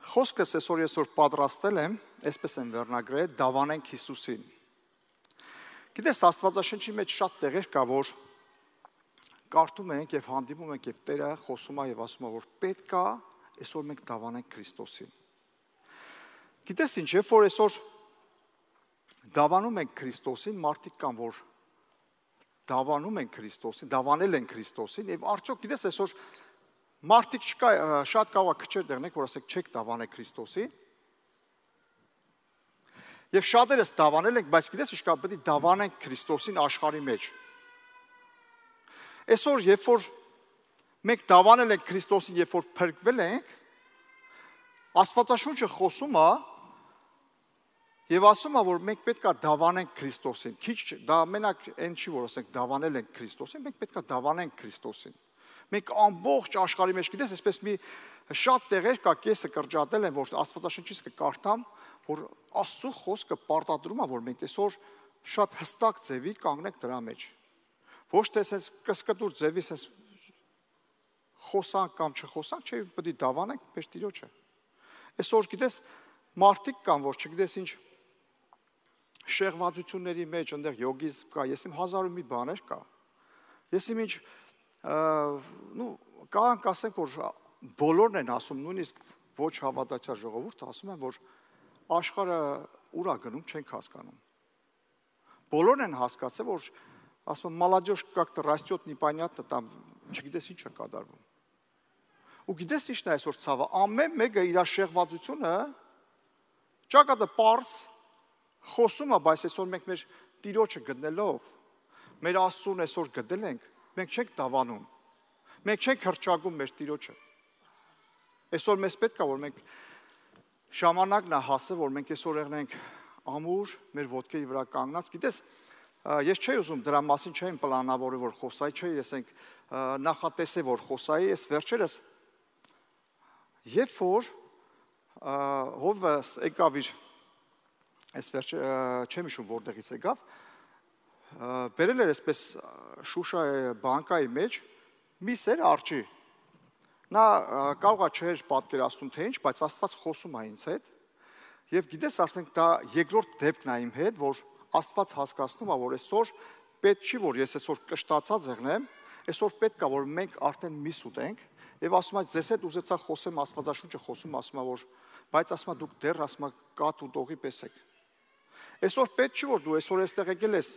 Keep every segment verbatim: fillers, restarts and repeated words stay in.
Խոսքս այսօր ես որ պատրաստել եմ, այսպես եմ վերնագրել, դավանենք Հիսուսին։ Գիտես, Աստվածաշնչի մեջ շատ տեղեր կա, որ կարդում ենք եւ հանդիպում ենք եւ Տերը խոսում է եւ ասում է, որ պետք է այսօր մենք դավանենք Քրիստոսին։ Գիտես ինչ, երբ որ այսօր դավանում ենք Քրիստոսին, մարդիկ կան, որ դավանում են Քրիստոսին, դավանել են Քրիստոսին եւ արդյոք գիտես այսօր մարդիկ չկա, շատ կարող է քչեր դեղնեք, որ ասեք չեք դավանել Քրիստոսին։ Եվ շատերս դավանել ենք, բայց գիտես ինչ կա, պետք է դավանենք Քրիստոսին աշխարհի մեջ։ Այսօր երբ որ մենք դավանել ենք Քրիստոսին, երբ որ փրկվել ենք, Աստվածաշունչը խոսում է եւ ասում է, որ մենք պետք է դավանենք Քրիստոսին։ Քիչ դա մենակ այն չի, որ ասենք դավանել ենք Քրիստոսին, մենք պետք է դավանենք Քրիստոսին։ Մենք ամբողջ աշխարհի մեջ, գիտես, այսպես մի շատ տեղեր կա, կեսը կրճատել են, որ Աստվածաշնչից կկարդամ, որ Աստծո խոսքը պարտադրում է, որ մենք այսօր շատ հստակ ձևի կանգնենք դրա մեջ։ Ոչ թե sense կսկտուր ձևի sense խոսանք կամ չխոսանք, չէ, պետք է դավանենք մեր Տիրոջը։ Այսօր գիտես, մարդիկ կան, որ չգիտես ինչ շեղվածությունների մեջ, այնտեղ յոգիզ կա, ես իմ հազար ու մի բաներ կա։ Ես իմ ինչ նու կարող ասենք, որ բոլորն են ասում, նույնիսկ ոչ հավատացյալ ժողովուրդը ասում են, որ աշխարհը ուր է գնում, չենք հասկանում։ Բոլորն են հասկացել, որ ասում են, молодежь как-то растет непонятно, там չգիտես ինչ է կատարվում։ Ու գիտես ինչն է այսօր ցավը, ամեն մեկը իր շեղվածությունը ճակատը པարս խոսում է, բայց այսօր մենք մեր Տիրոջը գտնելով, մեր Աստծուն այսօր գտել ենք, մենք չենք դավանում, մենք չենք հրճագում մեր Տիրոջը։ Այսօր մեզ պետք է, որ մենք ժամանակն է հասել, որ մենք այսօր եղնենք ամուր մեր ոտքերի վրա կանգնած։ Գիտես, ես չէի ուզում դրա մասին չէին պլանավորել, որ խոսայի, չէի, ես ենք նախատեսել, որ խոսայի, ես վերջերս երբ որ հովս եկավ իր, այս վերջը չեմ հիշում որտեղից եկավ, բերել էր այսպես Շուշայի բանկայի մեջ մի սեր արջի։ Նա կարող է չէր պատկերացնում թե ինչ, բայց Աստված խոսում է ինձ հետ։ Եվ գիտես, ասենք դա երկրորդ դեպքն է իմ հետ, որ Աստված հասկացնում է, որ այսօր պետք չի, որ ես այսօր կշտացած եղնեմ, այսօր պետք է, որ մենք արդեն միս ուտենք, եւ ասում է, ձեզ հետ ուզեցա խոսեմ, Աստվածաշունչը խոսում, ասում է, որ բայց ասում է դուք դեռ ասում է կատ ու տողի պես եք։ Այսօր պետք չի, որ դու այսօր այստեղ եկել ես,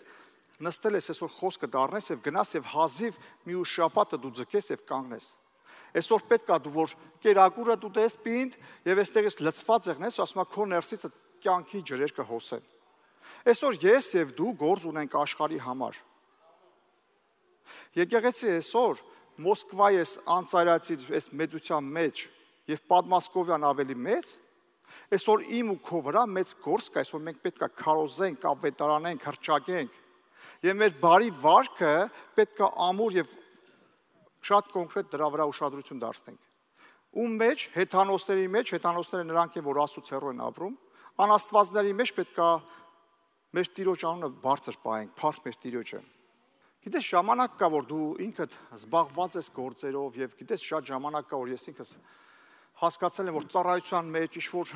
նստել ես, այսօր խոսքը դառնես եւ գնաս եւ հազիվ մի ու շապատը դու ձգես եւ կանգնես։ Այսօր պետք է դու որ կերակուրը դու տես պինդ եւ այստեղից լցված եղնես, ասում է քո ներսից կյանքի ջրեր կհոսեն։ Այսօր ես եւ դու գործ ունենք աշխարհի համար։ Եկեղեցի այսօր Մոսկվայի այս անցարացի այս մեծության մեջ եւ Պատմասկովյան ավելի մեծ, այսօր իմ ու քո վրա մեծ գործ կա, այսօր մենք պետք է քարոզենք, ավետարանենք, հրճագենք եւ մեր բարի վարքը պետք է ամուր եւ շատ կոնկրետ դրա վրա ուշադրություն դարձնենք։ Ում մեջ հեթանոսների մեջ, հեթանոսները նրանք են, որ Աստծո հեռու են ապրում, անաստվածների մեջ պետք է մեր Տիրոջ անունը բարձր պահենք, փառք մեր Տիրոջը։ Գիտես, ժամանակ կա, որ դու ինքդ զբաղված ես գործերով եւ գիտես, շատ ժամանակ կա, որ ես ինքս հասկացել եմ, որ ծառայության մեջ ինչ-որ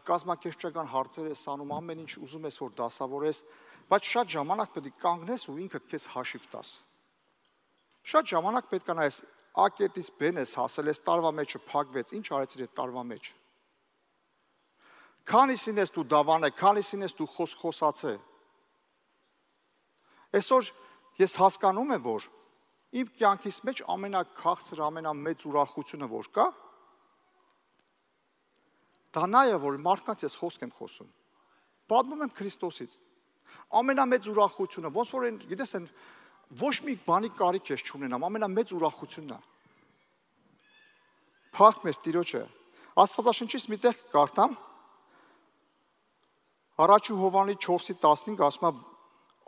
կազմակերպչական հարցեր ես անում, ամեն ինչ ուզում ես, որ դասավորես, բայց շատ ժամանակ պետք է կանգնես ու ինքդ քեզ հաշիվ տաս։ Շատ ժամանակ պետք է նայես A կետից B-ն ես հասել, ես տարվա մեջը փակվեց, ինչ արեցիր այդ տարվա մեջ։ Քանիսին ես դու դավանել, քանիսին ես դու խոս խոսացել։ Այսօր ես հասկանում եմ, որ իմ կյանքիս մեջ ամենաքաղցր, ամենամեծ ուրախությունը որ կա, դա նա է, որ մարդկանց ես խոսք եմ խոսում։ Պատմում եմ Քրիստոսից։ Ամենամեծ ուրախությունը, ոնց որ են, գիտես, են ոչ մի բանի կարիք ես չունենամ, ամենամեծ ուրախությունն է։ Փառք մեր Տիրոջը։ Աստվածաշնչից մի տեղ կարդամ, Առաջ Հովհաննես չորսի տասնհինգ ասում է,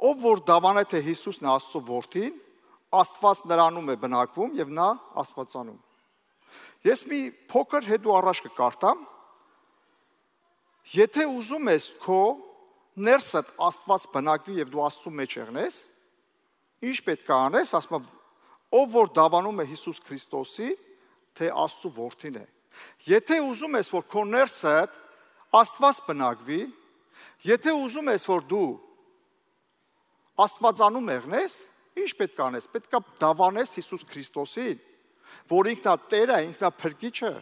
ով որ դավանե թե Հիսուսն է Աստծո որդին, Աստված նրանում է բնակվում եւ նա Աստվածանում։ Ես մի փոքր հետո առաջ կկարտամ, եթե ուզում ես քո ներսդ Աստված բնակվի եւ դու Աստծո մեջ եղնես, ինչ պետք է անես, ասում է, ով որ դավանում է Հիսուս Քրիստոսի, թե Աստծո որդին է։ Եթե ուզում ես, որ քո ներսդ Աստված բնակվի, եթե ուզում ես, որ դու Աստվածանու մեղնես, ինչ պետք է անես, պետք է դավանես Հիսուս Քրիստոսին, որ ինքն է Տերը, ինքն է Փրկիչը,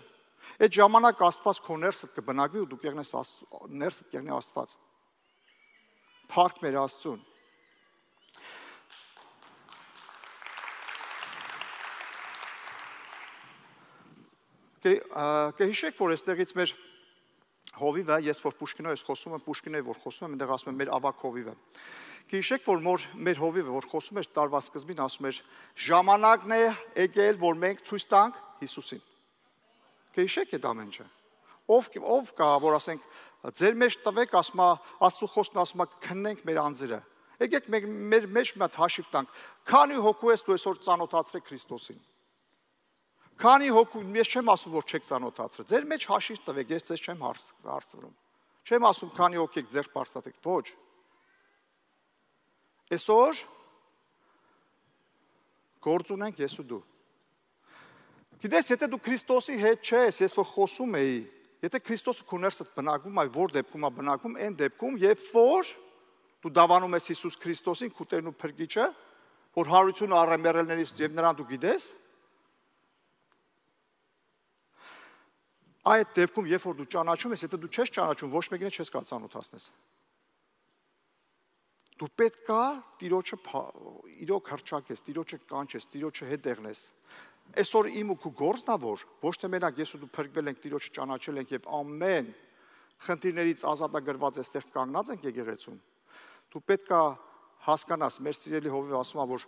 այդ ժամանակ Աստված քո ներսդ կբնակվի ու դու կեղնես ներսդ կեղնի Աստված։ Փառք մեր Աստծուն։ Կհիշեք, որ այստեղից մեր հովիվը, ես որ Պուշկինով ես խոսում եմ, Պուշկինով որ խոսում եմ, այնտեղ ասում եմ մեր ավակ հովիվը։ Կհիշեք, որ մեր հովիվը, որ խոսում էր տարվա սկզբին, ասում էր ժամանակն է եկել, որ մենք ցույց տանք Հիսուսին։ Կհիշեք այդ ամենը։ Ով ով կա, որ ասենք ձեր մեջ տվեք, ասում է Աստծո խոսքն ասում է քննենք մեր անձերը։ Եկեք մենք մեր մեջ մի հատ հաշիվ տանք։ Քանի հոգու ես դու այսօր ծանոթացրել Քրիստոսին։ Քանի հոգու, ես չեմ ասում, որ չեք ծանոթացրել։ Ձեր մեջ հաշիվ տվեք, ես ձեզ չեմ հարցնում։ Չեմ ասում, քանի հոգի եք ձեր բարձրացեք, ոչ։ Այսօր գործ ունենք ես ու դու։ Գիտես, եթե դու Քրիստոսի հետ չես, ես որ խոսում էի, եթե Քրիստոսը քո ներսդ բնակվում է, որ դեպքում է բնակվում, այն դեպքում, երբ որ դու դավանում ես Հիսուս Քրիստոսին, քո Տերն ու Փրկիչը, որ հարություն առեմեռելներից եւ նրան դու գիտես, այդ դեպքում, երբ որ դու ճանաչում ես, եթե դու չես ճանաչում, ոչ մեկին չես կարող ծանոթացնես։ Դու պետք է Տիրոջը իրոք հռչակես, Տիրոջը կանչես, Տիրոջը հետ եղնես։ Այսօր իմ ու քո գործն է որ ոչ թե մենակ ես ու դու փրկվել ենք, Տիրոջը ճանաչել ենք եւ ամեն խնդիրներից ազատագրված այստեղ կանգնած ենք եկեղեցում։ Դու պետք է հասկանաս, մեր սիրելի հովիվը ասում է, որ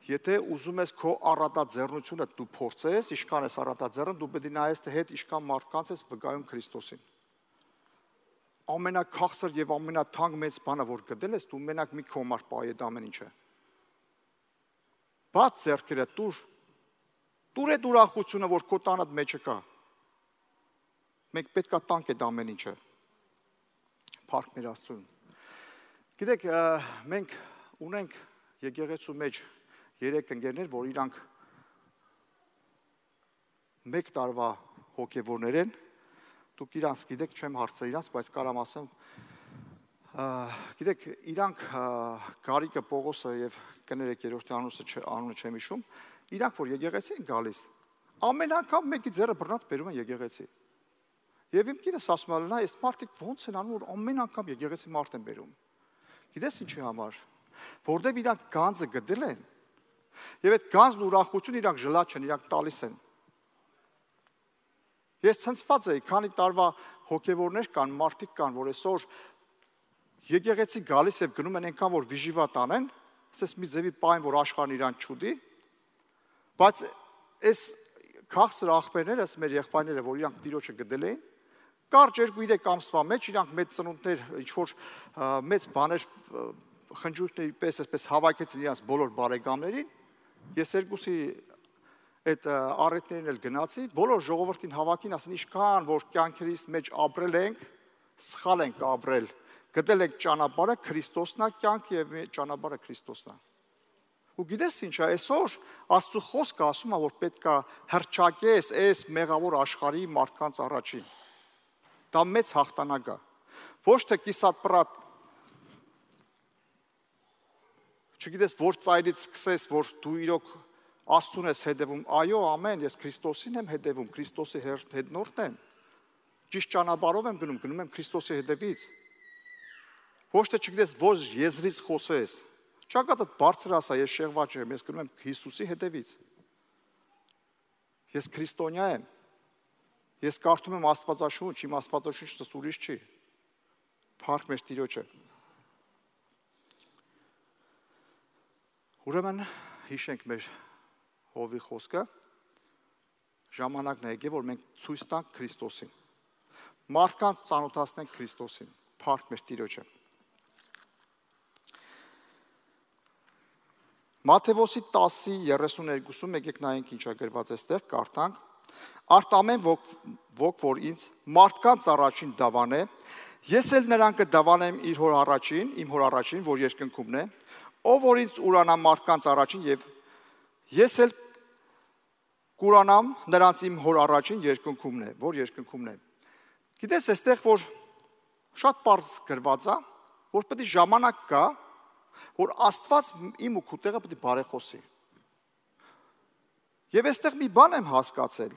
եթե ուզում ես քո առատաձեռնությունը դու փորձես, իշքան ես առատաձեռն, դու պետք է նայես թե հետ իշքան մարդկանց ես վկայում Քրիստոսին։ Ամենաքաղցր եւ ամենաթանկ մեծ բանը որ գտել ես, դու մենակ մի քո համար պահի այդ ամեն ինչը։ Բաց ձեռքերը տուր։ Տուր այդ ուրախությունը, որ քո տանդ մեջը կա։ Մենք պետք է տանք այդ ամեն ինչը։ Փառք մեր Աստծուն։ Գիտեք, մենք ունենք եկեղեցու մեջ երեք ընկերներ, որ իրանք մեկ տարվա հոգևորներ են, դուք իրանց գիտեք, չեմ հարցրել իրանց, բայց կարամ ասեմ, գիտեք, իրանք Գարիկը, Պողոսը եւ կներեք երրորդի անունը չեմ հիշում, իրանք որ եկեղեցի են գալիս, ամեն անգամ մեկի ձեռը բռնած բերում են եկեղեցի։ Եվ իմ կինս ասում է, նա այս մարդիկ ոնց են անում, որ ամեն անգամ եկեղեցի մարդ են բերում։ Գիտես ինչի համար, որտեվ իրանք գանձը գտել են, եւ այդ գանձն ուրախություն իրանք ժլատ չեն, իրանք տալիս են։ Ես ցնցված էի, քանի տարվա հոգևորներ կան, մարդիկ կան, որ այսօր եկեղեցի գալիս եւ գնում են այնքան որ վիժիվատ անեն, ասես մի ձևի պայն որ աշխարհն իրան չուդի, բայց այս քաղցր աղբերներս մեր եղբայրները, որ իրանք Տիրոջը գտել էին, կարճ երկու երեք ամսվա մեջ իրանք մեծ ծնունդներ, ինչ որ մեծ բաներ խնջույքների պես այսպես հավաքեցին իրանք բոլոր բարեկամներին, ես երկուսի այդ առիթներին էլ գնացի, բոլոր ժողովրդին հավաքին, ասեն ինչքան որ կյանքերից մեջ ապրել ենք, սխալ ենք ապրել, գտել ենք ճանապարհը Քրիստոսն է, կյանքը եւ ճանապարհը Քրիստոսն է։ Ու գիտես ինչ է, այսօր Աստծո խոսքը ասում է, որ պետք է հռչակես այս մեղավոր աշխարհի մարդկանց առաջին։ Դա մեծ հաղթանակ է։ Ոչ թե կիսատ-պրատ, չգիտես որ ծայրից սկսես, որ դու իրոք Աստծուն ես հետևում, այո, ամեն, ես Քրիստոսին եմ հետևում, Քրիստոսի հետնորդն եմ։ Ճիշտ ճանապարհով եմ գնում, գնում եմ Քրիստոսի հետևից։ Ոչ թե չգիտես որ եզրից խոսես։ Ճակատդ բարձր ասա, ես շեղված չեմ, ես գնում եմ Հիսուսի հետևից։ Ես քրիստոնյա եմ։ Ես կարդում եմ Աստվածաշունչ, իմ Աստվածաշունչը ուրիշ չի։ Փառք մեր Տիրոջը։ Ուրեմն հիշենք մեր հովի խոսքը, ժամանակն է եկել, որ մենք ցույց տանք Քրիստոսին։ Մարդկանց ծանոթացնենք Քրիստոսին։ Փառք մեր Տիրոջը։ Մատթեոս տասի երեսուներկուսում եկեք նայենք ինչ է գրված այստեղ, կարդանք։ Արդ ամեն ոք, ոք որ ինձ մարդկանց առաջին դավան է, ես էլ նրան կդավանեմ իր հոր առաջին, իմ հոր առաջին, որ երկնքումն է, ով որ ինձ ուրանա մարդկանց առաջին եւ ես էլ կուրանամ նրանց իմ հոր առաջին երկնքումն է, որ երկնքումն է։ Գիտես, այստեղ որ շատ պարզ գրված է, որ պետք է ժամանակ կա, որ Աստված իմ ու քո տեղը պետք է բարեխոսի։ Եվ այստեղ մի բան եմ հասկացել,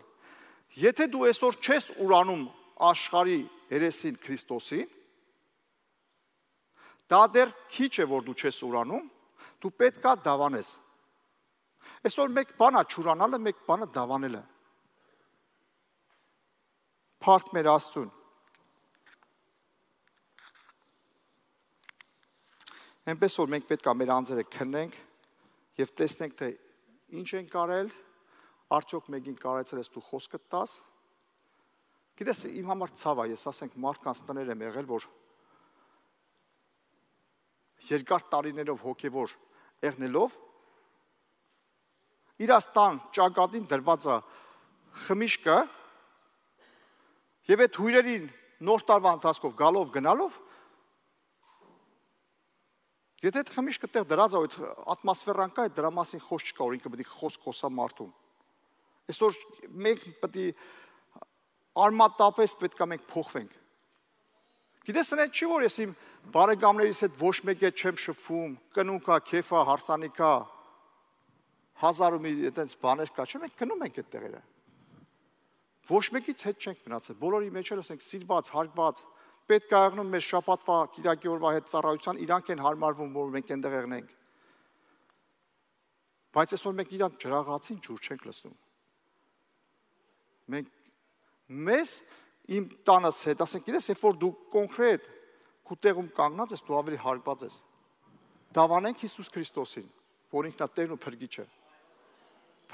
եթե դու այսօր չես ուրանում աշխարհի երեսին Քրիստոսին, դա դեռ քիչ է, որ դու չես ուրանում, դու պետք է դավանես։ Այսօր մեկ բան է չուրանալը, մեկ բանը դավանելը։ Փառք մեր Աստծուն։ Այնպես որ մենք պետք է մեր անձերը քննենք եւ տեսնենք, թե ինչ են կարել, արդյոք մեկին կարեցել ես դու խոսքը տաս։ Գիտես, իմ համար ցավ է, ես ասենք մարդկանց տներ եմ եղել, որ երկար տարիներով հոգևոր եղնելով իրաց տան ճակատին դրված է խմիչքը եւ այդ հյուրերին նոր տարվա ընթացքով գալով գնալով եթե այդ խմիչքը տեղ դրած է, այդ ատմոսֆերան կա, դրա մասին խոսք չկա, որ ինքը պետք է խոսք խոսա մարդուն։ Այսօր մենք պետք է արմատապես պետք է մենք փոխվենք։ Գիտես, այն չի որ ես իմ բարեկամներից հետ ոչ մեկի հետ չեմ շփվում, կնունքա, քեֆա, հարսանիքա, հազար ու մի այդպես բաներ կա, չէ՞ մենք գնում ենք այդ տեղերը։ Ոչ մեկից հետ չենք մնացել, բոլորի մեջ էլ ասենք սիրված, հարգված, պետք է եղնում մեր շաբաթվա, կիրակի օրվա հետ ծառայության, իրանք են հարմարվում, որ մենք այնտեղ եղնենք։ Բայց այսօր մենք իրանք ջրաղացին ջուր չենք լսում։ Մենք մեզ իմ տանս հետ, ասենք, գիտես, երբ որ դու կոնկրետ քո տեղում կանգնած ես, դու ավելի հարգված ես։ Դավանենք Հիսուս Քրիստոսին, որ ինքն է Տերն ու Փրկիչը։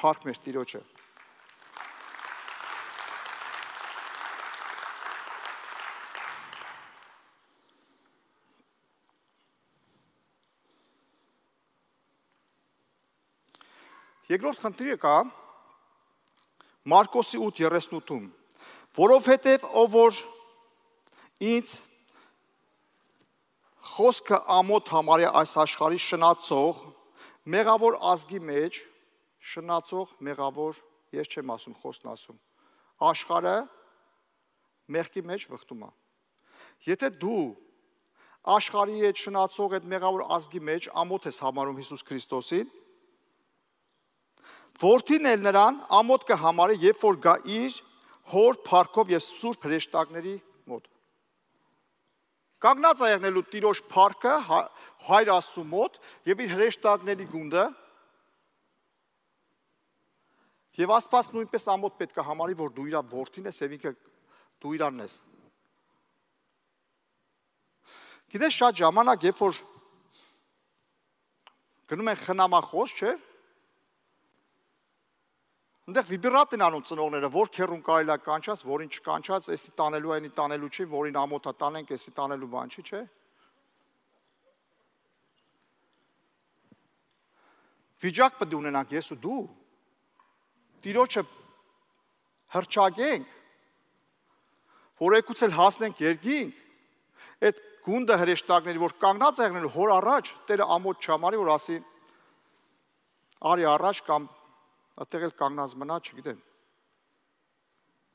Փառք մեր Տիրոջը։ Երկրորդ խնդիրը կա Մարկոսի ութ երեսունութում, որովհետև ով որ ինձ խոսքը ամոթ համարյա այս աշխարհի շնացող մեղավոր ազգի մեջ, շնացող մեղավոր, ես չեմ ասում, խոսքն ասում, աշխարհը մեղքի մեջ վխտում է։ Եթե դու աշխարհի հետ շնացող այդ մեղավոր ազգի մեջ ամոթ ես համարում Հիսուս Քրիստոսին, Որդին էլ նրան ամոթ կհամարի, երբ որ գա իր հոր փառքով եւ սուրբ հրեշտակների մոտ։ Կանգնած է եղնելու Տիրոջ փառքը Հայր Աստծու մոտ եւ իր հրեշտակների գունդը եւ Աստված նույնպես ամոթ պետք է համարի, որ դու իր որդին ես եւ ինքը դու իրանն ես։ Գիտես, շատ ժամանակ, երբ որ գնում են խնամախոս, չէ՞, Այնտեղ վիբրատ են անում ծնողները, որ քերուն կարելի է կանչած, որին չկանչած, էսի տանելու այնի տանելու չի, որին ամոթա տանենք, էսի տանելու բան չի, չէ՞։ Վիճակ պետք է ունենանք ես ու դու։ Տիրոջը հռչակենք, որ եկուց էլ հասնենք երկինք, այդ գունդը հրեշտակների, որ կանգնած եղնել հոր առաջ, Տերը ամոթ չհամարի, որ ասի արի առաջ կամ Այդտեղ էլ կանգնած մնա, չգիտեմ։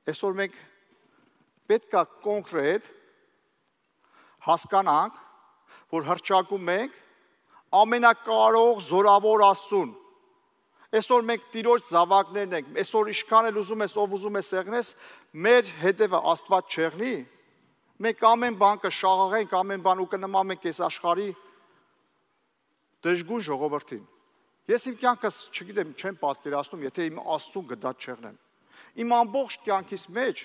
Այսօր մենք պետք է կոնկրետ հասկանանք, որ հռչակում ենք ամենակարող զորավոր Աստծուն։ Այսօր մենք Տիրոջ զավակներն ենք, այսօր ինչքան էլ ուզում ես, ով ուզում ես եղնես, մեր հետևը Աստված չեղնի, մենք ամեն բան կշաղաղենք, ամեն բան ու կնմանենք այս աշխարհի դժգույն ժողովրդին։ Ես իմ կյանքս, չգիտեմ, չեմ պատկերացնում, եթե իմ Աստծուն գդած չեղնեմ։ Իմ ամբողջ կյանքիս մեջ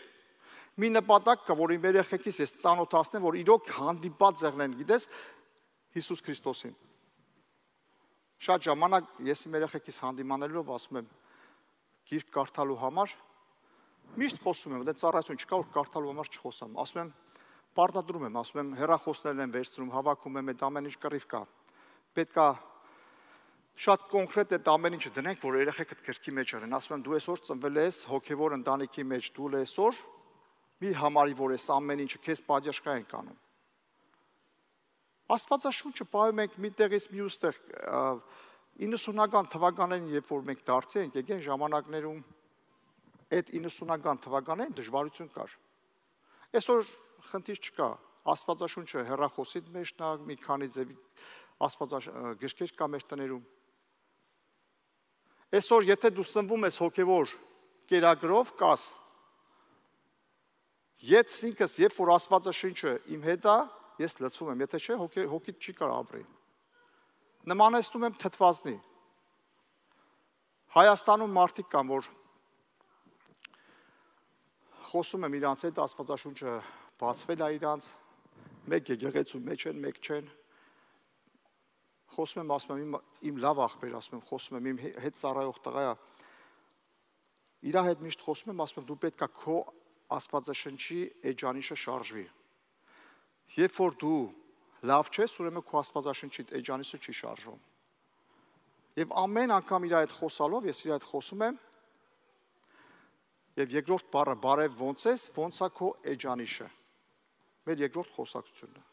մի նպատակ կա, որ իմ երեխեքիս ես ծանոթացնեմ, որ իրոք հանդիպած եղնեն, գիտես, Հիսուս Քրիստոսին։ Շատ ժամանակ ես իմ երեխեքիս հանդիմանելով ասում եմ գիրք կարդալու համար, միշտ խոսում եմ, դա ծառայություն չկա, որ կարդալու համար չխոսամ։ Ասում եմ, պարտադրում եմ, ասում եմ, հեռախոսներն եմ վերցնում, հավաքում եմ, այդ ամեն ինչ կռիվ կա։ Պետք է շատ կոնկրետ այդ ամեն ինչը դնենք, որ երեխեքդ գրքի մեջ արեն։ Ասում եմ, դու այսօր ծնվել ես հոգևոր ընտանիքի մեջ, դու այսօր մի համարի, որ այս ամեն ինչը քեզ պատժկա են կանում։ Աստվածաշունչը պահում ենք մի տեղից մյուս տեղ իննսունական թվականներին, երբ որ մենք դարձի ենք, եկեն ժամանակներում այդ իննսունական թվականներին դժվարություն կար։ Այսօր խնդիր չկա, Աստվածաշունչը հեռախոսի մեջ նա մի քանի ձևի աստվածագրքեր կա մեր տներում։ Այսօր եթե դու սնվում ես հոգևոր կերակրով, կաս Ես ինքս, երբ որ Աստվածաշունչը իմ հետ է, ես լցվում եմ, եթե չէ, հոգիդ չի կարող ապրի։ Նմանեցնում եմ թթվածնի։ Հայաստանում մարդիկ կան, որ խոսում եմ իրանց հետ, Աստվածաշունչը բացվել է իրանց, մեկ եկեղեցու մեջ են, մեկ չեն։ Խոսում եմ, ասում եմ, իմ լավ աղբեր, ասում եմ, խոսում եմ, իմ հետ ծառայող տղա է։ Իրա հետ միշտ խոսում եմ, ասում եմ, դու պետք է քո Աստվածաշնչի էջանիշը շարժվի։ Երբ որ դու լավ չես, ուրեմն քո Աստվածաշնչի էջանիշը չի շարժվում։ Եվ ամեն անգամ իր հետ խոսալով, ես իր հետ խոսում եմ, եւ երկրորդ բառը բարև ոնց ես, ոնց է քո էջանիշը։ Մեր երկրորդ խոսակցությունն է։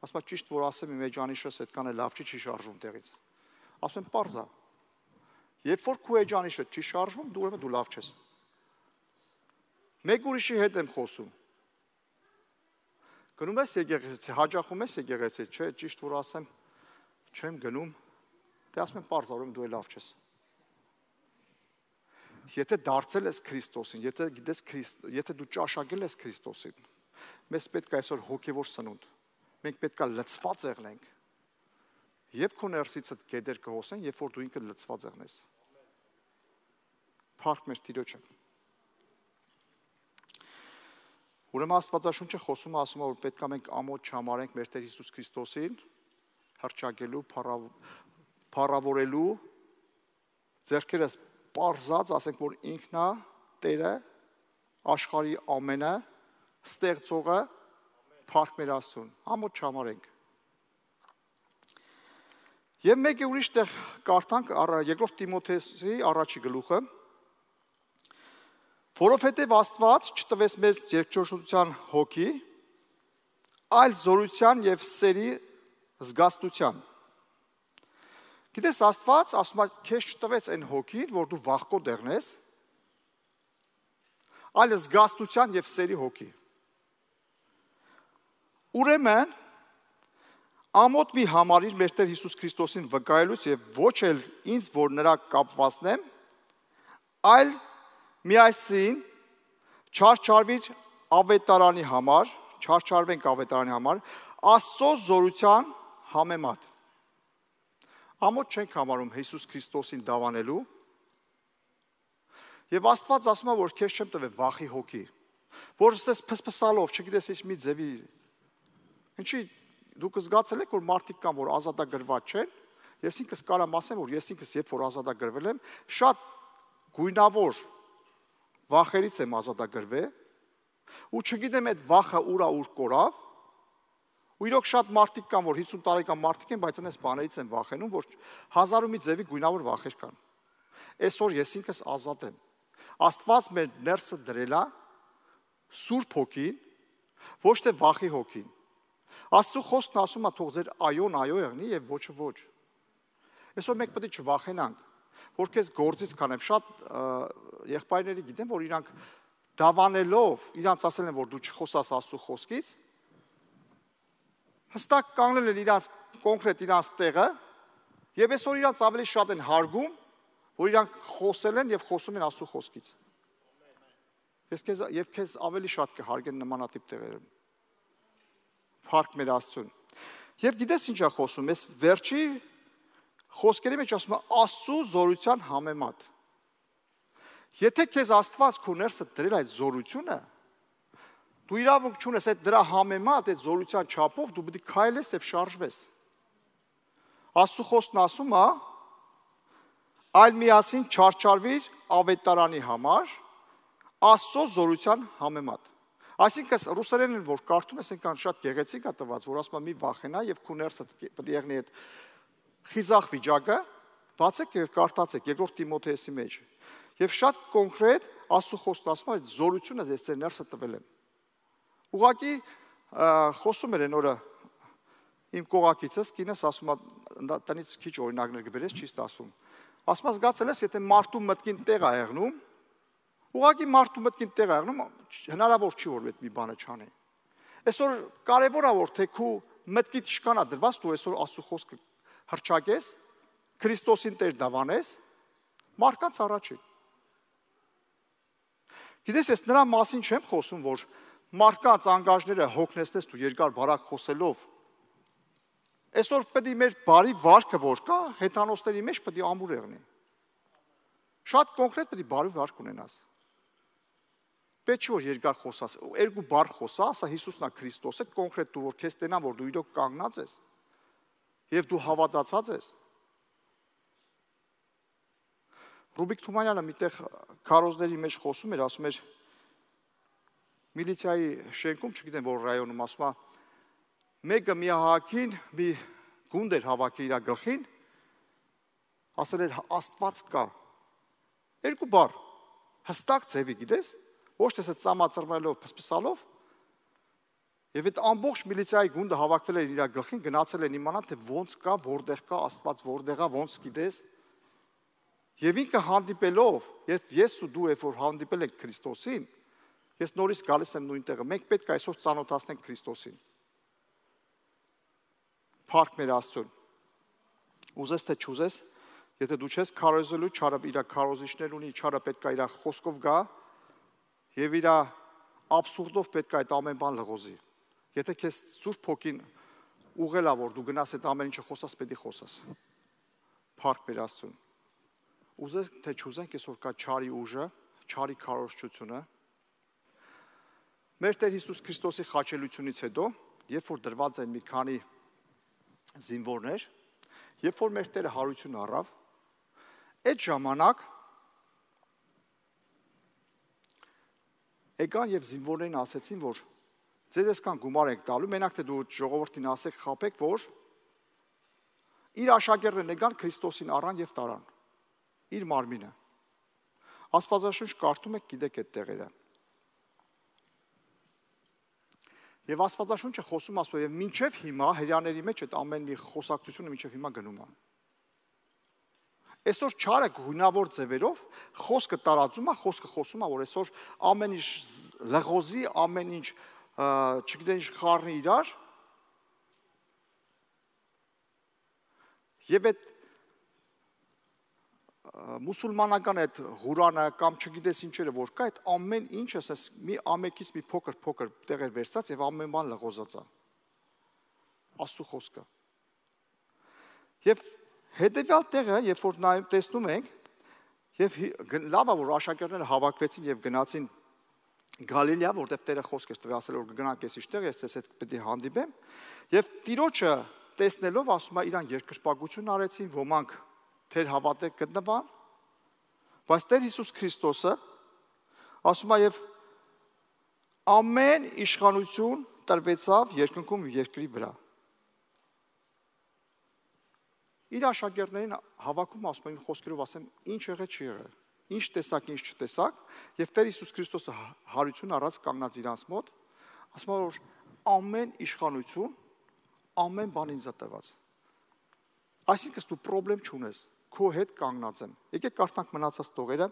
Ասում եմ ճիշտ որ ասեմ իմ էջանիշս այդքան է լավ չի, չի շարժվում տեղից։ Ասում եմ պարզ է։ Երբ որ քո էջանիշը չի շարժվում, դու ուրեմն դու լավ չես։ Մեկ ուրիշի հետ եմ խոսում։ Գնում ես եկեղեցի, հաճախում ես եկեղեցի, չէ, ճիշտ որ ասեմ, չեմ գնում, դե ասում եմ պարզ, ուրեմն դու լավ չես։ Եթե դարձել ես Քրիստոսին, եթե գիտես Քրիստ, եթե դու ճաշակել ես Քրիստոսին, մեզ պետք է այսօր հոգևոր սնունդ։ Մենք պետք է լցված եղնենք։ Երբ քո ներսիցդ գետեր կհոսեն, երբ որ դու ինքդ լցված եղնես։ Փառք մեր Տիրոջը։ Ուրեմն Աստվածաշունչը խոսում է, ասում է, որ պետք է մենք ամոթ չհամարենք մեր Տեր Հիսուս Քրիստոսին, հռչակելու, փառավորելու, ձեռքերս պարզած, ասենք, որ ինքն է Տերը, աշխարհի ամենը, ստեղծողը, փառք մեր Աստծուն, ամոթ չհամարենք։ Եվ մեկ է ուրիշ տեղ կարդանք երկրորդ Տիմոթեոսի առաջի գլուխը, որովհետև Աստված չտվեց մեզ երկչորջության հոգի, այլ զորության և սերի զգաստության։ Գիտես Աստված ասում է, քեզ չտվեց այն հոգին, որ դու վախկոտ եղնես, այլ զգաստության և սերի հոգի։ Ուրեմն ամոթ մի համարիր մեր Տեր Հիսուս Քրիստոսին վկայելուց և ոչ էլ ինձ, որ նրա կապվածնեմ, այլ միասին չարչարվիր ավետարանի համար, չարչարվենք ավետարանի համար, Աստծո զորության համեմատ։ Ամոթ չենք համարում Հիսուս Քրիստոսին դավանելու, եւ Աստված ասում է, որ քեզ չեմ տվել վախի հոգի, որ ես փսփսալով, չգիտես ինչ մի ձևի, ինչի դուք զգացել եք, որ մարդիկ կան, որ ազատագրված չեն, ես ինքս կարամ ասեմ, որ ես ինքս երբ որ ազատագրվել եմ, շատ գույնավոր վախերից եմ ազատագրվել, ու չգիտեմ այդ վախը ուրա ուր կորավ, ու իրոք շատ մարդիկ կան, որ հիսուն տարեկան մարդիկ են, բայց այնպես բաներից են վախենում, որ հազար ու մի ձևի գույնավոր վախեր կան։ Այսօր ես ինքս ազատ եմ։ Աստված մեր ներսը դրել է Սուրբ Հոգին, ոչ թե վախի հոգին։ Աստծո խոսքն ասում է, թող ձեր այոն այո եղնի եւ ոչը ոչ։ Այսօր մենք պետք է չվախենանք, որ քեզ գործից կանեմ, շատ եղբայրների գիտեմ, որ իրանք դավանելով, իրանց ասել են, որ դու չխոսաս Աստծո խոսքից, հստակ կանգնել են իրանց կոնկրետ իրանց տեղը, եւ այսօր իրանց ավելի շատ են հարգում, որ իրանք խոսել են եւ խոսում են Աստծո խոսքից։ Ես քեզ եւ քեզ ավելի շատ կհարգեն նմանատիպ տեղերում։ Փառք մեր Աստծուն։ Եվ գիտես ինչ է խոսում, ես վերջի խոսքերի մեջ ասում է Աստծո զորության համեմատ։ Եթե քեզ Աստված քո ներսը դրել այդ զորությունը, դու իրավունք չունես այդ դրա համեմատ այդ զորության չափով դու պետք է քայլես եւ շարժվես։ Աստծո խոսքն ասում է այլ միասին չարչարվիր ավետարանի համար Աստծո զորության համեմատ։ Այսինքն ռուսերենն որ կարդում ես այնքան շատ գեղեցիկ է տված, որ ասում է մի վախենա եւ քո ներսը պետք է եղնի այդ խիզախ վիճակը, բացեք եւ կարդացեք երկրորդ Տիմոթեոսի մեջ։ Եվ շատ կոնկրետ Աստծո խոսքն ասում է այդ զորությունը ես ձեր ներսը տվել եմ։ Ուղղակի խոսում էր այն օրը իմ կողակիցս կինս ասում է տնից քիչ օրինակներ գբերես ճիշտ ասում։ Ասում է զգացել ես եթե մարդու մտքին տեղ է եղնում, Ուղղակի մարդու մտքին տեղ աղնում, հնարավոր չի որ այդ մի բանը չանի։ Այսօր կարևոր է որ թե քու մտքիդ իշքանա դրված դու այսօր Աստծո խոսքը հրճակես, Քրիստոսին Տեր դավանես, մարդկանց առաջին։ Գիտես, ես նրա մասին չեմ խոսում, որ մարդկանց անգաժները հոգնեցնես դու երկար բարակ խոսելով։ Այսօր պետք է մեր բարի վարքը որ կա, հեթանոսների մեջ պետք է ամուր եղնի։ Շատ կոնկրետ պետք է բարի վարք ունենաս։ Պետք չի որ երկար խոսաս, երկու բառ խոսա, ասա Հիսուսն է Քրիստոսը, կոնկրետ դու որ քեզ տենան որ դու իրոք կանգնած ես եւ դու հավատացած ես։ Ռուբիկ Թումանյանը միտեղ քարոզների մեջ խոսում էր, ասում էր միլիցիայի շենքում, չգիտեմ որ ռայոնում, ասում է մեկը միահակին մի գունդ էր հավաքի իր գլխին, ասել էր Աստված կա։ Երկու բառ, հստակ ձևի, գիտես, ոչ թե ծամածրմելով, փսփսալով, եւ այդ ամբողջ միլիցիայի գունդը հավաքվել էր իր գլխին, գնացել են իմանալ թե ոնց կա, որտեղ կա Աստված, որտեղ է, ոնց գիտես։ Եվ ինքը հանդիպելով, եւ ես ու դու երբ որ հանդիպել ենք Քրիստոսին, ես նորից գալիս եմ նույն տեղը։ Մենք պետք է այսօր ծանոթացնենք Քրիստոսին։ Փառք մեր Աստծուն։ Ուզես թե չուզես, եթե դու չես քարոզելու, չարը իր քարոզիչներ ունի, չարը պետք է իր խոսքով գա եւ իր աբսուրդով պետք է այդ ամեն բան լղոզի։ Եթե քեզ Սուրբ Հոգին ուղղելա որ դու գնաս այդ ամեն ինչը խոսաս, պետք է խոսաս։ Փառք մեր Աստծուն։ Ուզես թե չուզենք, այսօր կա չարի ուժը, չարի քարոզչությունը։ Մեր Տեր Հիսուս Քրիստոսի խաչելությունից հետո, երբ որ դրված են մի քանի զինվորներ, երբ որ մեր Տերը հարություն առավ, այդ ժամանակ եկան եւ զինվորներին ասեցին, որ ձեզ այսքան գումար եք տալու, մենակ թե դու ժողովրդին ասեք, խաբեք, որ իր աշակերտներն եկան Քրիստոսին առան եւ տարան իր մարմինը։ Աստվածաշունչ կարդում եք, գիտեք այդ տեղերը։ Եվ Աստվածաշունչը խոսում ասում է, եւ մինչեւ հիմա հрьяաների մեջ այդ ամեն մի խոսակցությունը մինչեւ հիմա գնում է։ Այսօր չարը գունավոր ձևերով խոսքը տարածում է, խոսքը խոսում է, որ այսօր ամեն ինչ լղոզի, ամեն ինչ, չգիտեմ ինչ խառնի իրար։ Եվ այդ մուսուլմանական այդ Ղուրանը կամ չգիտես ինչերը որ կա, այդ ամեն ինչը ասես մի ամեկից մի փոքր փոքր տեղեր վերցած եւ ամեն բան լղոզած է։ Աստծո խոսքը։ Եվ հետեւյալ տեղը, երբ որ նայում տեսնում ենք, եւ լավ է որ աշակերտները հավաքվեցին եւ գնացին Գալիլեա, որտեղ Տերը խոսք էր տվել, ասել որ գնանք էս իշտեղ, ես ցես հետ պետք է հանդիպեմ, եւ Տիրոջը տեսնելով ասում է իրան երկրպագություն արեցին, ոմանք թեր հավատեք գտնվան, բայց Տեր Հիսուս Քրիստոսը ասում է եւ ամեն իշխանություն տրվեցավ երկնքում ու երկրի վրա։ Իր աշակերտներին հավաքում ասում են խոսքերով ասեմ ինչ եղել չի եղել, ինչ տեսակ, ինչ չտեսակ, եւ Տեր Հիսուս Քրիստոսը հարություն առած կանգնած իրանց մոտ, ասում է որ ամեն իշխանություն, ամեն բան ինձ է տրված։ Այսինքն դու խնդրեմ չունես, քո հետ կանգնած եմ։ Եկեք կարդանք մնացած տողերը։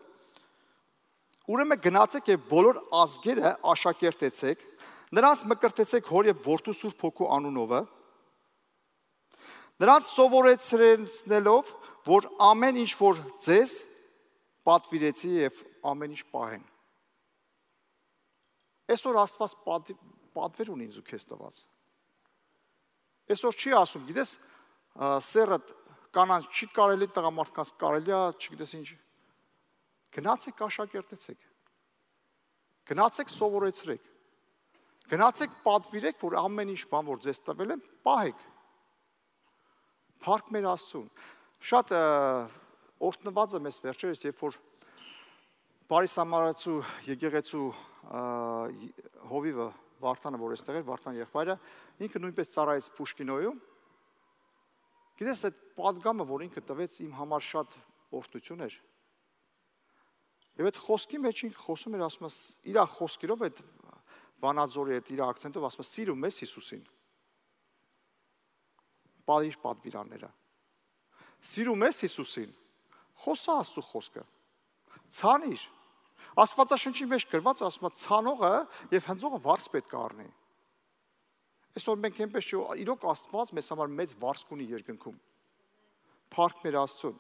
Ուրեմն գնացեք եւ բոլոր ազգերը աշակերտեցեք, նրանց մկրտեցեք Հոր եւ Որդու Սուրբ Հոգու անունովը, նրանց սովորեցնելով, որ ամեն ինչ որ ձեզ պատվիրեցի եւ ամեն ինչ պահեն։ Այսօր Աստված պատվեր ունի ինձ ու քեզ տված։ Այսօր չի ասում, գիտես, սերը կանանց չի կարելի, տղամարդկանց կարելի է, չգիտես ինչ։ Գնացեք աշակերտեցեք։ Գնացեք սովորեցրեք։ Գնացեք պատվիրեք, որ ամեն ինչ բան որ ձեզ տվել են, պահեք։ Փառք մեր Աստծուն։ Շատ օրհնված եմ ես վերջերս, երբ որ Բարի Սամարացու եկեղեցու հովիվը Վարդանը, որ էստեղ էր, Վարդան եղբայրը, ինքը նույնպես ծառայեց Պուշկինոյում։ Գիտես, այդ պատգամը, որ ինքը տվեց իմ համար շատ օրհնություն էր։ Եվ այդ խոսքի մեջ ինքը խոսում էր, ասում է, իր խոսքերով այդ Վանաձորի այդ իր акցենտով ասում է, սիրում ես Հիսուսին։ Պարիր պատվիրանները։ Սիրում ես Հիսուսին։ Խոսա Աստծո խոսքը։ Ցանիր։ Աստվածաշնչի մեջ գրված ասում է ցանողը եւ հնձողը վարձ պետք է առնի։ Այսօր մենք այնպես չէ, իրոք Աստված մեզ համար մեծ վարձք ունի երկնքում։ Փառք մեր Աստծուն։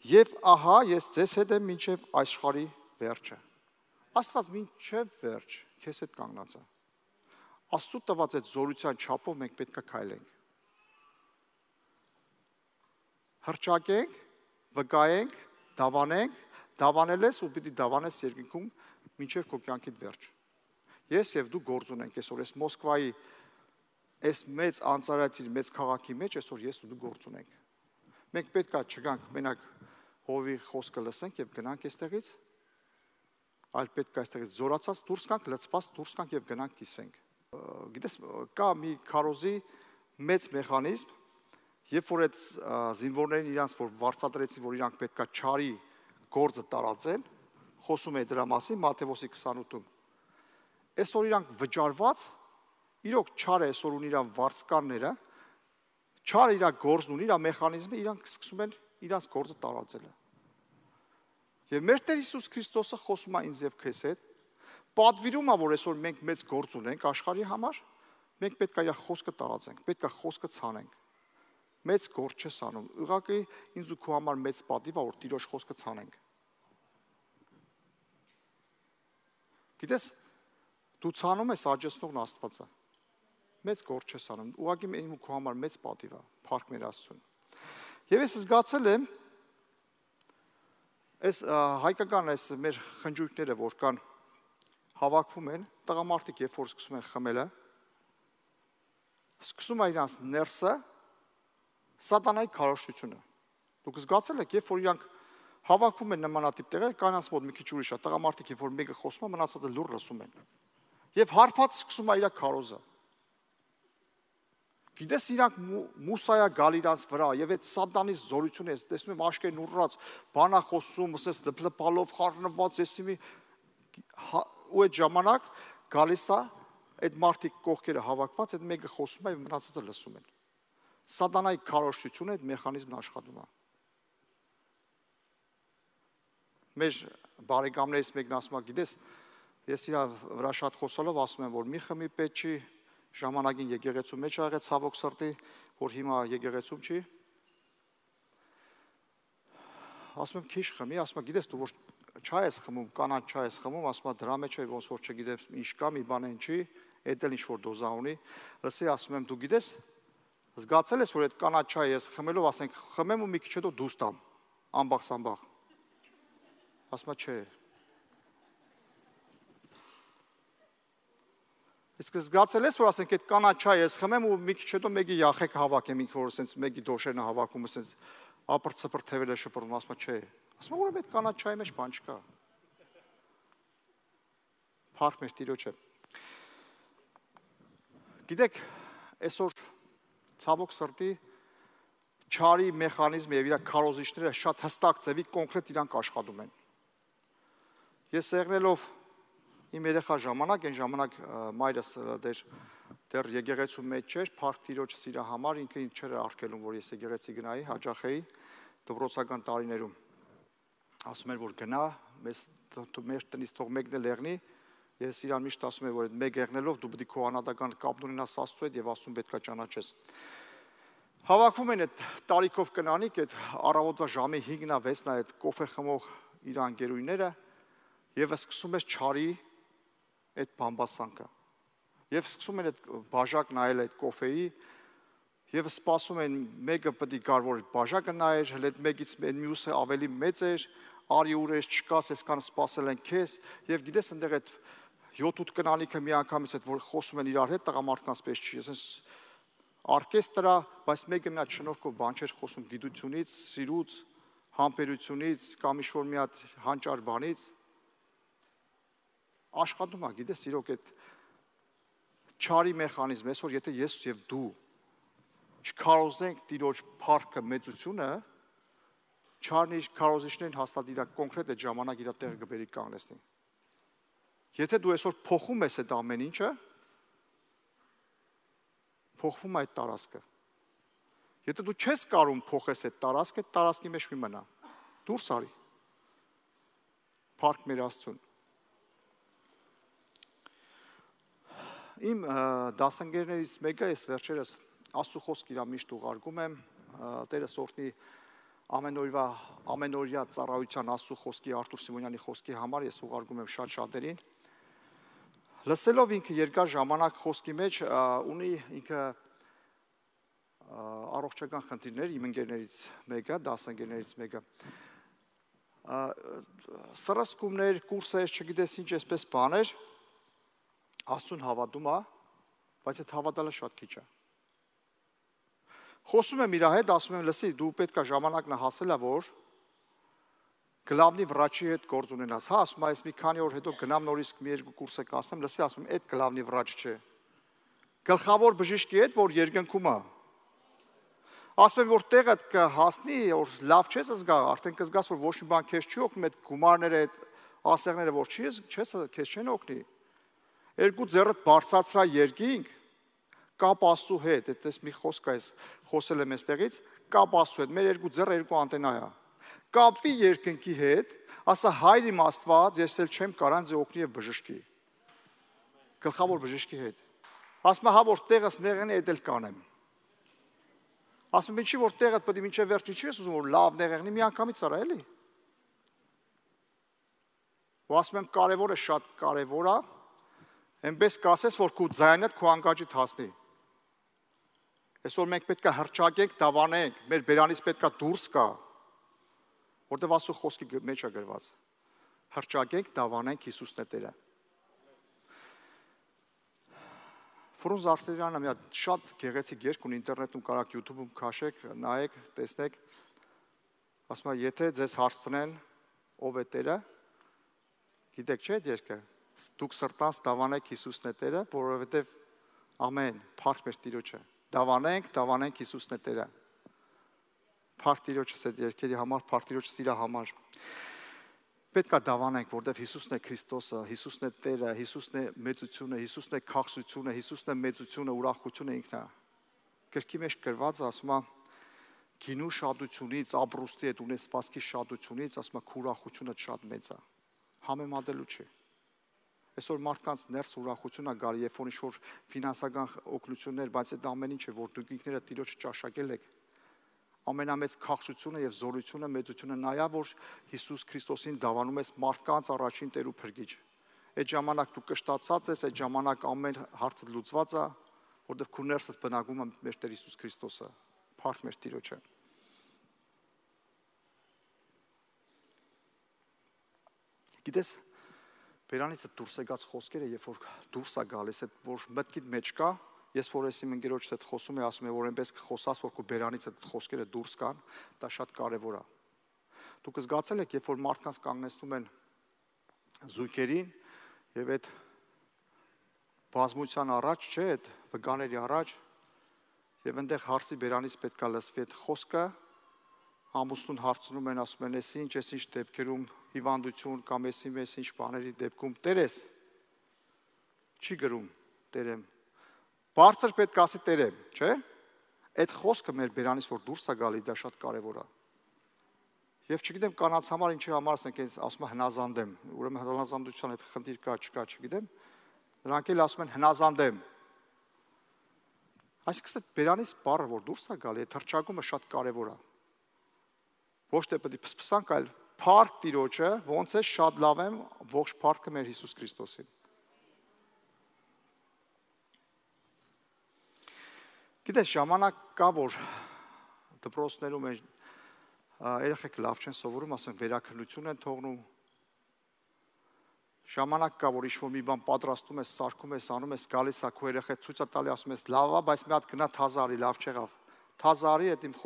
Եվ ահա ես ձեզ հետ եմ մինչև աշխարհի վերջը։ Աստված մինչև վերջ քեզ հետ կանգնած է։ Աստծո տված այդ զորության չափով մենք պետք է քայլենք։ Հրճակենք, վկայենք, դավանենք, դավանել ես ու պիտի դավանես երկնքում մինչև քո կյանքիդ վերջ։ Ես եւ դու գործ ունենք այսօր այս Մոսկվայի այս մեծ անցարայցի մեծ քաղաքի մեջ այսօր ես ու դու գործ ունենք։ Մենք պետք է չգանք մենակ հովի խոսքը լսենք եւ գնանք այստեղից, այլ պետք է այստեղից զորացած դուրս գանք, լցված դուրս գանք եւ գնանք կիսվենք։ Գիտես, կա մի քարոզի մեծ մեխանիզմ, երբ որ այդ զինվորներին իրանց որ վարձատրեցին, որ իրանք պետք է չարի գործը տարածեն, խոսում է դրա մասին Մատթեոս քսանութում։ Այսօր իրանք վճարված, իրոք չարը այսօր ունի իր վարձկանները, չարը իր գործն ունի, իր մեխանիզմը, իրանք սկսում են իրանց գործը տարածելը։ Եվ մեր Տեր Հիսուս Քրիստոսը խոսում է ինձ եւ քեզ հետ, պատվիրում է, որ այսօր մենք մեծ գործ ունենք աշխարհի համար, մենք պետք է իր խոսքը տարածենք, պետք է խոսքը ցանենք։ Մեծ գործ չես անում։ Ուղղակի ինձ ու քո համար մեծ պատիվ է, որ Տիրոջ խոսքը ցանենք։ Գիտես, դու ցանում ես աջեցնողն Աստվածը։ Մեծ գործ չես անում։ Ուղղակի ինձ ու քո համար մեծ պատիվ է։ Փառք մեր Աստծուն։ Եվ ես զգացել եմ այս հայկական այս մեր խնջույքները, որ կան հավաքվում են, տղամարդիկ երբ որ սկսում են խմելը, սկսում է իրանց ներսը սատանայի քարոզությունը։ Դուք զգացել եք, երբ որ իրանք հավաքվում են նմանատիպ տեղեր, կանանց մոտ մի քիչ ուրիշ է, տղամարդիկ երբ որ մեկը խոսում է, մնացածը լուր լսում են։ Եվ հարբած սկսում է իր քարոզը։ Գիտես իրանք մուսայա գալ իրանց վրա եւ այդ սատանի զորությունը ես տեսնում եմ աշկերն ուռած, բանա խոսում, ասես դպլպալով խառնված, եսի մի ու այդ ժամանակ գալիս է այդ մարդիկ կողքերը հավաքված, այդ մեկը խոսում է եւ մնացածը լսում են։ Սատանայի քարոզությունը այդ մեխանիզմն աշխատում է։ Մեր բարեկամներից մեկն ասում է, գիտես, ես իր վրա շատ խոսալով ասում եմ, որ մի խմի պետք չի, ժամանակին եկեղեցու մեջ ա եղել ցավոք սրտի, որ հիմա եկեղեցում չի։ Ասում եմ քիչ խմի, ասում եմ գիտես դու որ չայ ես խմում, կանան չայ ես խմում, ասում եմ դրա մեջ է ոնց որ չգիտեմ ինչ կա, մի բան են չի, էդ էլ ինչ որ դոզա ունի։ Լսի, ասում եմ դու գիտես, զգացել ես որ այդ կանան չայ ես խմելով, ասենք խմեմ ու մի քիչ հետո դուրս տամ, ամբախ սամբախ։ Ասում եմ չէ։ Իսկ զգացել ես որ ասենք այդ կանան չայ ես խմեմ ու մի քիչ հետո մեկի յախեք հավաքեմ, ինքը որ ասենց մեկի դոշերն հավաքում, ասենց ապրծպր թևերը շփռում, ասում եմ չէ։ Ասում եմ որ այդ կանան չայի մեջ բան չկա։ Փառք մեր Տիրոջը։ Գիտեք, այսօր ցավոք սրտի չարի մեխանիզմը եւ իր քարոզիչները շատ հստակ ձևի կոնկրետ իրանք աշխատում են։ Ես եղնելով իմ երեխա ժամանակ, այն ժամանակ մայրս դեր դեռ եկեղեցու մեջ չէր, Փառք Տիրոջ սիրա համար ինքը ինձ չէր արգելում, որ ես եկեղեցի գնայի, հաճախեի դպրոցական տարիներում։ Ասում էր որ գնա, մեզ մեր տնից թող մեկն էլ եղնի, ես իրան միշտ ասում եմ որ այդ մեկ եղնելով դու պետք է քո անհատական կապն ունենաս Աստծո հետ եւ Աստծուն պետք է ճանաչես։ Հավաքվում են այդ տարիքով կնանիկ, այդ առավոտվա ժամի հինգն վեցն է այդ կոֆե խմող իր անգերույները եւ սկսում ես չարի այդ բամբասանքը։ Եվ սկսում են այդ բաժակ նայել այդ կոֆեի եւ սպասում են մեկը պետք է գար որ բաժակը նայեր, հենց այդ մեկից այն մյուսը ավելի մեծ էր, արի ուրես չկաս, այսքան սպասել են քեզ եւ գիտես այնտեղ այդ յոթ-ութ կնանիքը մի անգամից այդ որ խոսում են իրար հետ տղամարդկանց պես չի, ասես օրկեստրա, բայց մեկը մի հատ շնորհքով բան չէր խոսում գիտությունից, սիրուց, համբերությունից, կամ ինչ-որ մի հատ հանճար բանից աշխատում է, գիտես, իրոք այդ չարի մեխանիզմը, այսօր եթե ես եւ դու չքարոզենք Տիրոջ փառքը, մեծությունը, չարն իր քարոզիչներին հաստատ իր կոնկրետ այդ ժամանակ իր տեղը կբերի կանգնեցնի։ Եթե դու այսօր փոխում ես այդ ամեն ինչը, փոխվում է այդ տարածքը։ Եթե դու չես կարող փոխես այդ տարածքը, այդ տարածքի մեջ մի մնա։ Դուրս արի։ Փառք մեր Աստծուն։ Իմ դասընկերներից մեկը ես վերջերս Աստծո խոսք իրա միշտ ուղարկում եմ, Տերս օրհնի ամենօրյա ամենօրյա ծառայության Աստծո խոսքի Արտուր Սիմոնյանի խոսքի համար ես ուղարկում եմ շատ շատերին։ Լսելով ինքը երկար ժամանակ խոսքի մեջ ունի ինքը առողջական խնդիրներ իմ ընկերներից մեկը, դասընկերներից մեկը։ Սրասկումներ, կուրսեր, չգիտես ինչ էսպես բաներ, Աստծուն հավատում է, բայց այդ հավատալը շատ քիչ է։ Խոսում եմ իր հետ, ասում եմ, լսի, դու պետք է ժամանակն հասել է, որ գլավնի վրաչի հետ գործ ունենաս։ Հա, ասում եմ, այս մի քանի օր հետո գնամ նորից մի երկու կուրս է կասեմ, լսի, ասում եմ, այդ գլավնի վրաչ չէ։ Գլխավոր բժիշկի հետ, որ երկնքում է։ Ասում եմ, որ տեղը կհասնի, որ լավ չես զգա, արդեն կզգաս, որ ոչ մի բան քեզ չի օգնում, այդ գումարները, այդ ասեղները, որ չի, չես, քեզ չեն օգնի։ Երկու ձեռդ բարձրացրա երկինք, կապ Աստծո հետ, այդպես մի խոսք է, խոսել եմ այստեղից, կապ Աստծո հետ, մեր երկու ձեռը երկու անտենա է։ Կապվի երկնքի հետ, ասա հայր իմ Աստված, ես էլ չեմ կարող ձեզ օգնի եւ բժշկի։ Գլխավոր բժշկի հետ։ Ասում եմ, հա որ տեղս նեղեն է, դա էլ կանեմ։ Ասում եմ, ինչի որ տեղդ պետք է մինչև վերջի չի ես ուզում որ լավ նեղեղնի մի անգամից արա էլի։ Ու ասում եմ, կարևորը շատ կարևոր է, այնպես կասես, որ քո ձայնդ քո անկաջիդ հասնի։ Այսօր մենք պետք է հրճակենք, դավանենք, մեր բերանից պետք է դուրս գա, որտեղ Աստծո խոսքի մեջ է գրված։ Հրճակենք, դավանենք, Հիսուսն է Տերը։ Ֆրունզ Արսենյանը մի հատ շատ գեղեցիկ երգ ունի ինտերնետում կարաք YouTube-ում քաշեք, նայեք, տեսնեք։ Ասում է, եթե ձեզ հարցնեն ով է Տերը, գիտեք չէ՞ այդ երգը։ Դուք սրտանց դավանեք Հիսուսն է Տերը, որովհետև ամեն, փառք մեր Տիրոջը։ Դավանենք, դավանենք Հիսուսն է Տերը։ Փառք Տիրոջս այդ երգերի համար, փառք Տիրոջս իր համար։ Պետք է դավանենք, որտեղ Հիսուսն է Քրիստոսը, Հիսուսն է Տերը, Հիսուսն է մեծությունը, Հիսուսն է քաղցությունը, Հիսուսն է մեծությունը, ուրախությունը ինքն է։ Գրքի մեջ գրված ասում է գինու շատությունից, ապրուստի այդ ունեցվածքի շատությունից, ասում է ուրախությունը շատ մեծ է։ Համեմատելու չի։ Այսօր մարդկանց ներս ուրախությունը գալի, երբ որ ինչ-որ ֆինանսական օգնություններ, բայց այդ ամեն ինչը, որ դուք ինքներդ Տիրոջը ճաշակել եք, ամենամեծ քաղցությունը եւ զորությունը, մեծությունը նա է, որ Հիսուս Քրիստոսին դավանում ես մարդկանց առաջին Տեր ու Փրկիչ։ Այդ ժամանակ դու կշտացած ես, այդ ժամանակ ամեն հարցը լուծված է, որովհետեւ քո ներսդ բնակվում է մեր Տեր Հիսուս Քրիստոսը։ Փառք մեր Տիրոջը։ Գիտես, բերանից դուրս եկած խոսքերը, երբ որ դուրս է գալիս, այդ որ մտքիդ մեջ կա, ես որ ես իմ ընկերոջս հետ խոսում եմ, ասում եմ, որ այնպես խոսաս, որ քո բերանից այդ խոսքերը դուրս կան, դա շատ կարևոր է։ Դուք զգացել եք, երբ որ մարդկանց կանգնեցնում են զույգերին եւ այդ բազմության առաջ, չէ, այդ վգաների առաջ, եւ այնտեղ հարցի բերանից պետք է լսվի այդ խոսքը, ամուսնուն հարցնում են, ասում են, «Էս ինչ, էս ինչ դեպքերում հիվանդություն կամ էս ինչ բաների դեպքում Տերես»։ Չի գրում Տերեմ։ Բարձր պետք է ասի Տերեմ, չէ՞։ Այդ խոսքը մեր բերանից որ դուրս է գալի, դա շատ կարևոր է։ Եվ չգիտեմ կանանց համար ինչի համար ասենք, ասում են հնազանդ եմ, ուրեմն հնազանդության այդ խնդիր կա, չկա, չգիտեմ։ Նրանք էլ ասում են հնազանդ եմ։ Այսինքն այդ բերանից բառը որ դուրս է գալի, այդ հրճակումը շատ կարևոր է։ Ոչ թե պետք է փսփսանք, այլ փառք Տիրոջը, ոնց է շատ լավ եմ, ողջ փառքը մեր Հիսուս Քրիստոսին։ Գիտես, ժամանակ կա, որ դպրոցներում են երեխեք լավ չեն սովորում, ասեն վերաքննություն են թողնում։ Ժամանակ կա, որ ինչ-որ մի բան պատրաստում ես, սարքում ես, անում ես, գալիս է քո երեխա ցույց է տալի, ասում ես լավ է, բայց մի հատ գնա թազարի, լավ չեղավ։ Թազարի, այդ իմ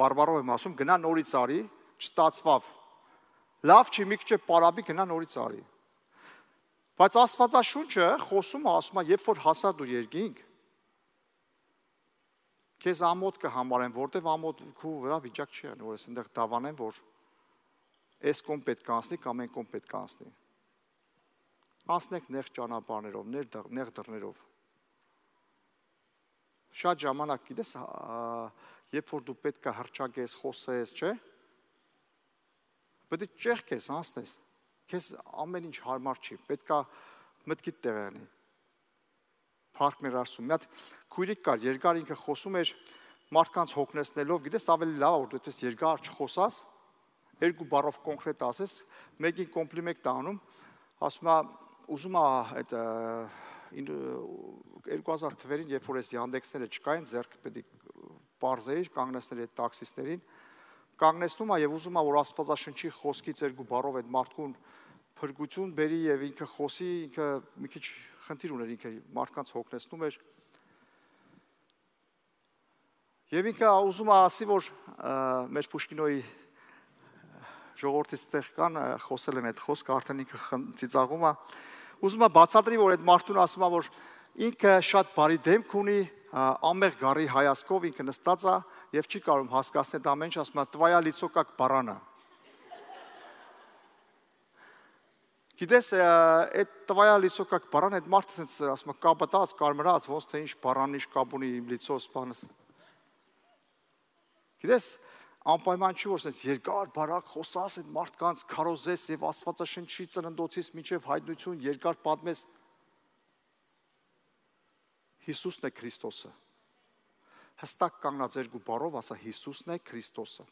բարբարով եմ ասում, գնա նորից արի, չստացվավ։ Լավ չի, մի քիչ պարաբի գնա նորից արի։ Բայց Աստվածաշունչը խոսում է, ասում է, երբ որ հասա դու երկինք, քեզ ամոթ կհամարեն, որտեվ ամոթ քու վրա վիճակ չի անում, որ ես այնտեղ դավանեմ, որ այս կողմ պետք է անցնի կամ այն կողմ պետք է անցնի։ Անցնեք նեղ ճանապարհներով, նեղ դռներով։ Շատ ժամանակ գիտես, երբ որ դու պետք է հռչակես, խոսես, չէ՞։ Պետք է ճեղքես, անցնես։ Քեզ ամեն ինչ հարմար չի, պետք է մտքիդ տեղանի։ Փառք մեր Աստծուն։ Մի հատ քույրիկ կար, երկար ինքը խոսում էր մարդկանց հոգնեցնելով, գիտես, ավելի լավ է որ դու այդպես երկար չխոսաս, երկու բառով կոնկրետ ասես, մեկին կոմպլիմենտ անում, ասում է, ուզում է այդ երկու հազար թվերին, երբ որ այս Yandex-ները չկային, ձեռքը պետք է պարզեիր, կանգնեցնել այդ տաքսիստերին, կանգնեցնում է եւ ուզում է որ Աստվածաշնչի խոսքից երկու բառով այդ մարդկուն փրկություն բերի եւ ինքը խոսի, ինքը մի քիչ խնդիր ուներ, ինքը մարդկանց հոգնեցնում էր։ Եվ ինքը ուզում է ասի, որ մեր Պուշկինոյի ժողովրդից տեղ կան, խոսել եմ այդ խոսքը, արդեն ինքը ծիծաղում է, ուզում է բացատրի, որ այդ մարդուն ասում է, որ ինքը շատ բարի դեմք ունի, ամեղ գարի հայացքով ինքը նստած է եւ չի կարող հասկացնել ամեն ինչ, ասում է «Твоя лицо как барана»։ Գիտես, այդ «Твоя лицо как барана» այդ մարդը ասենց ասում է կապտած, կարմրած, ոնց թե ինչ բարան ինչ կապ ունի իմ լիցոս բանս։ Գիտես, անպայման չի որ ասենց երկար բարակ խոսաս այդ մարդկանց քարոզես եւ Աստվածաշնչի ծննդոցից մինչեւ հայտնություն երկար պատմես։ Հիսուսն է Քրիստոսը։ Հստակ կանգնած երկու բառով ասա Հիսուսն է Քրիստոսը։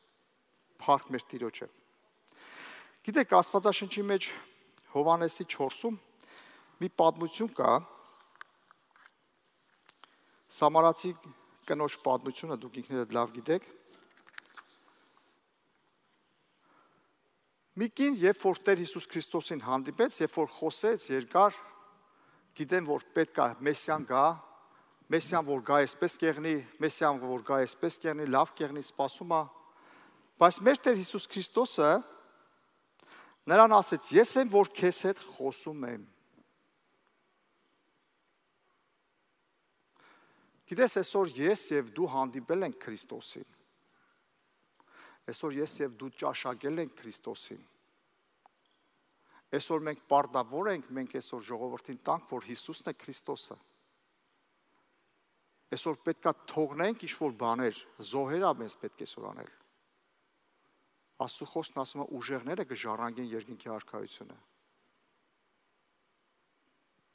Փառք մեր Տիրոջը։ Գիտեք, Աստվածաշնչի մեջ Հովհաննեսի չորսում մի պատմություն կա։ Սամարացի կնոջ պատմությունը դուք ինքներդ լավ գիտեք։ Մի կին, երբ որ Տեր Հիսուս Քրիստոսին հանդիպեց, երբ որ խոսեց երկար, գիտեմ, որ պետք է Մեսիան գա, Մեսիան որ գա այսպես կեղնի, Մեսիան որ գա այսպես կեղնի, լավ կեղնի, սպասում է։ Բայց մեր Տեր Հիսուս Քրիստոսը նրան ասեց. «Ես եմ, որ քեզ հետ խոսում եմ»։ Գիտես, այսօր ես եւ դու հանդիպել ենք Քրիստոսին։ Այսօր ես եւ դու ճաշակել ենք Քրիստոսին։ Այսօր մենք պարտավոր ենք, մենք այսօր ժողովրդին տանք, որ Հիսուսն է Քրիստոսը։ Այսօր պետքա թողնենք ինչ-որ բաներ, զոհեր ա մեզ պետք է այսօր անել։ Աստծո խոսքն ասում է ուժեղները կժառանգեն երկինքի արքայությունը։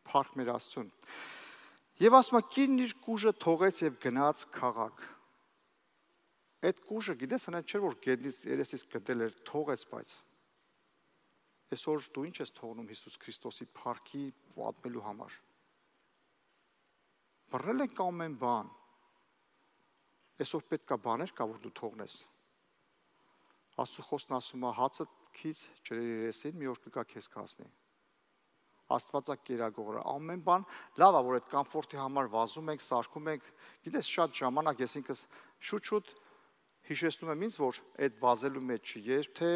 Փառք մեր Աստծուն։ Եվ ասում է կինն իր կուժը թողեց եւ գնաց քաղաք։ Այդ կուժը, գիտես, հենց չէր որ գետնից երեսից գտել էր, թողեց, բայց այսօր դու ինչ ես թողնում Հիսուս Քրիստոսի փառքի պատմելու համար։ Բռնել ենք ամեն բան։ Այսօր պետք է բաներ կա, որ դու թողնես։ Աստծո խոսքն ասում է հացը քիչ ջրերի երեսին մի օր կգա քեզ կհասնի։ Աստվածա կերակողը ամեն բան լավ է որ այդ կոմֆորտի համար վազում ենք, սարքում ենք։ Գիտես շատ ժամանակ ես ինքս շուտ-շուտ հիշեցնում եմ ինձ, որ այդ վազելու մեջ չի, երբ թե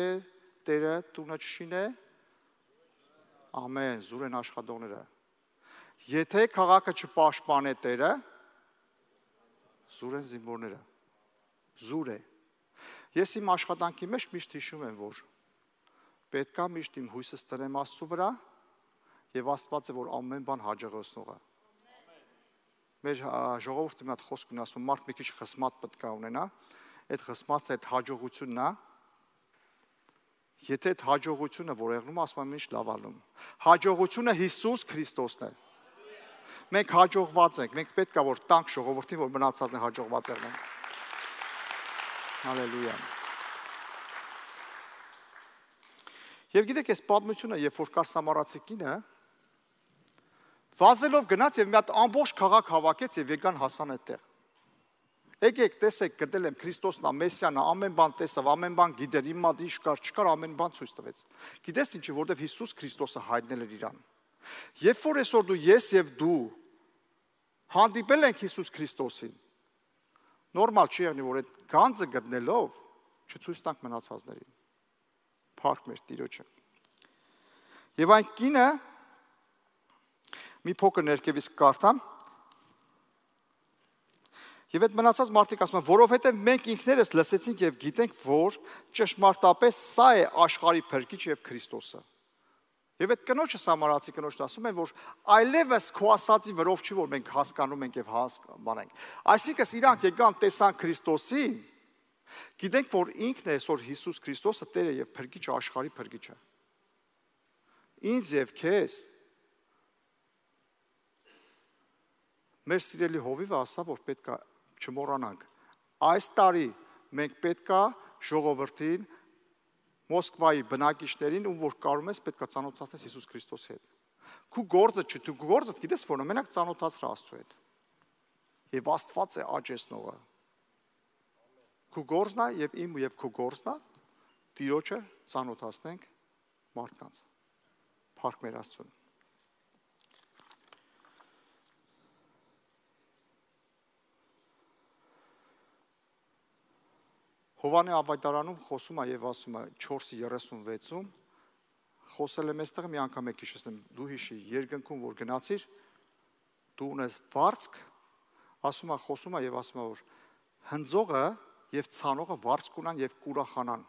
Տերը տունը չշինե, ամեն, զուր են աշխատողները։ Եթե քաղաքը չպաշտպանե Տերը, զուր են զինվորները։ Զուր է։ Ես իմ աշխատանքի մեջ միշտ հիշում եմ, որ պետք է միշտ իմ հույսս տնեմ Աստծո վրա եւ Աստված է, որ ամեն բան հաջողեցնող է։ Մեր ժողովուրդը մի հատ խոսք ունի ասում, մարդ մի քիչ խսմատ պետք է ունենա, այդ խսմատը այդ հաջողությունն է։ Եթե այդ հաջողությունը որ եղնում, ասում եմ ինչ լավ ալում։ Հաջողությունը Հիսուս Քրիստոսն է։ Մենք հաջողված ենք, մենք պետք է որ տանք ժողովրդին, որ մնացածն հաջողված եղնեն։ Հալելույա։ Եվ գիտեք, այս պատմությունը, երբ որ կար Սամարացի կինը, վազելով գնաց եւ մի հատ ամբողջ քաղաք հավաքեց եւ եկան հասան այդտեղ։ Եկեք, տեսեք, գտել եմ Քրիստոսն է, Մեսիան է, ամեն բան տեսավ, ամեն բան գիտեր, իմ մոտ ինչ կար, չկար, ամեն բան ցույց տվեց։ Գիտես ինչի, որովհետեւ Հիսուս Քրիստոսը հայտնել էր իրան։ Երբ որ այսօր դու ես եւ դու հանդիպել ենք Հիսուս Քրիստոսին, նորմալ չի եղնի, որ այդ գանձը գտնելով չցույց տանք մնացածներին։ Փառք մեր Տիրոջը։ Եվ այն կինը մի փոքր ներքևից կարդամ։ Եվ այդ մնացած մարդիկ ասում են, որովհետև մենք ինքներս լսեցինք եւ գիտենք, որ ճշմարտապես սա է աշխարհի փրկիչ եւ Քրիստոսը։ Եվ այդ կնոջը սամարացի կնոջն ասում են, որ այլևս քո ասածի վրով չի, որ մենք հասկանում ենք եւ հասկանանք։ Այսինքն իրանք եկան տեսան Քրիստոսին, գիտենք, որ ինքն է այսօր Հիսուս Քրիստոսը Տերը եւ Փրկիչը, աշխարհի Փրկիչը։ Ինձ եւ քեզ մեր սիրելի հովիվը ասա, որ պետք է չմոռանանք։ Այս տարի մենք պետք է ժողովրդին Մոսկվայի բնակիչներին, ում որ կարում ես, պետք է ծանոթացնես Հիսուս Քրիստոսի հետ։ Քու գործը չէ, դու գործը գիտես, որ մենակ ծանոթացրա Աստծո հետ։ Եվ Աստված է աճեցնողը։ Քու գործն է եւ իմ եւ քու գործն է Տիրոջը ծանոթացնենք մարդկանց։ Փառք մեր Աստծուն։ Հովանե ավետարանում խոսում է եւ ասում է չորսի երեսունվեցում խոսել եմ այստեղ մի անգամ եք հիշեցնեմ դու հիշի երկնքում որ գնացիր դու ունես վարձք ասում է խոսում է եւ ասում է որ հնձողը եւ ցանողը վարձք ունան եւ կուրախանան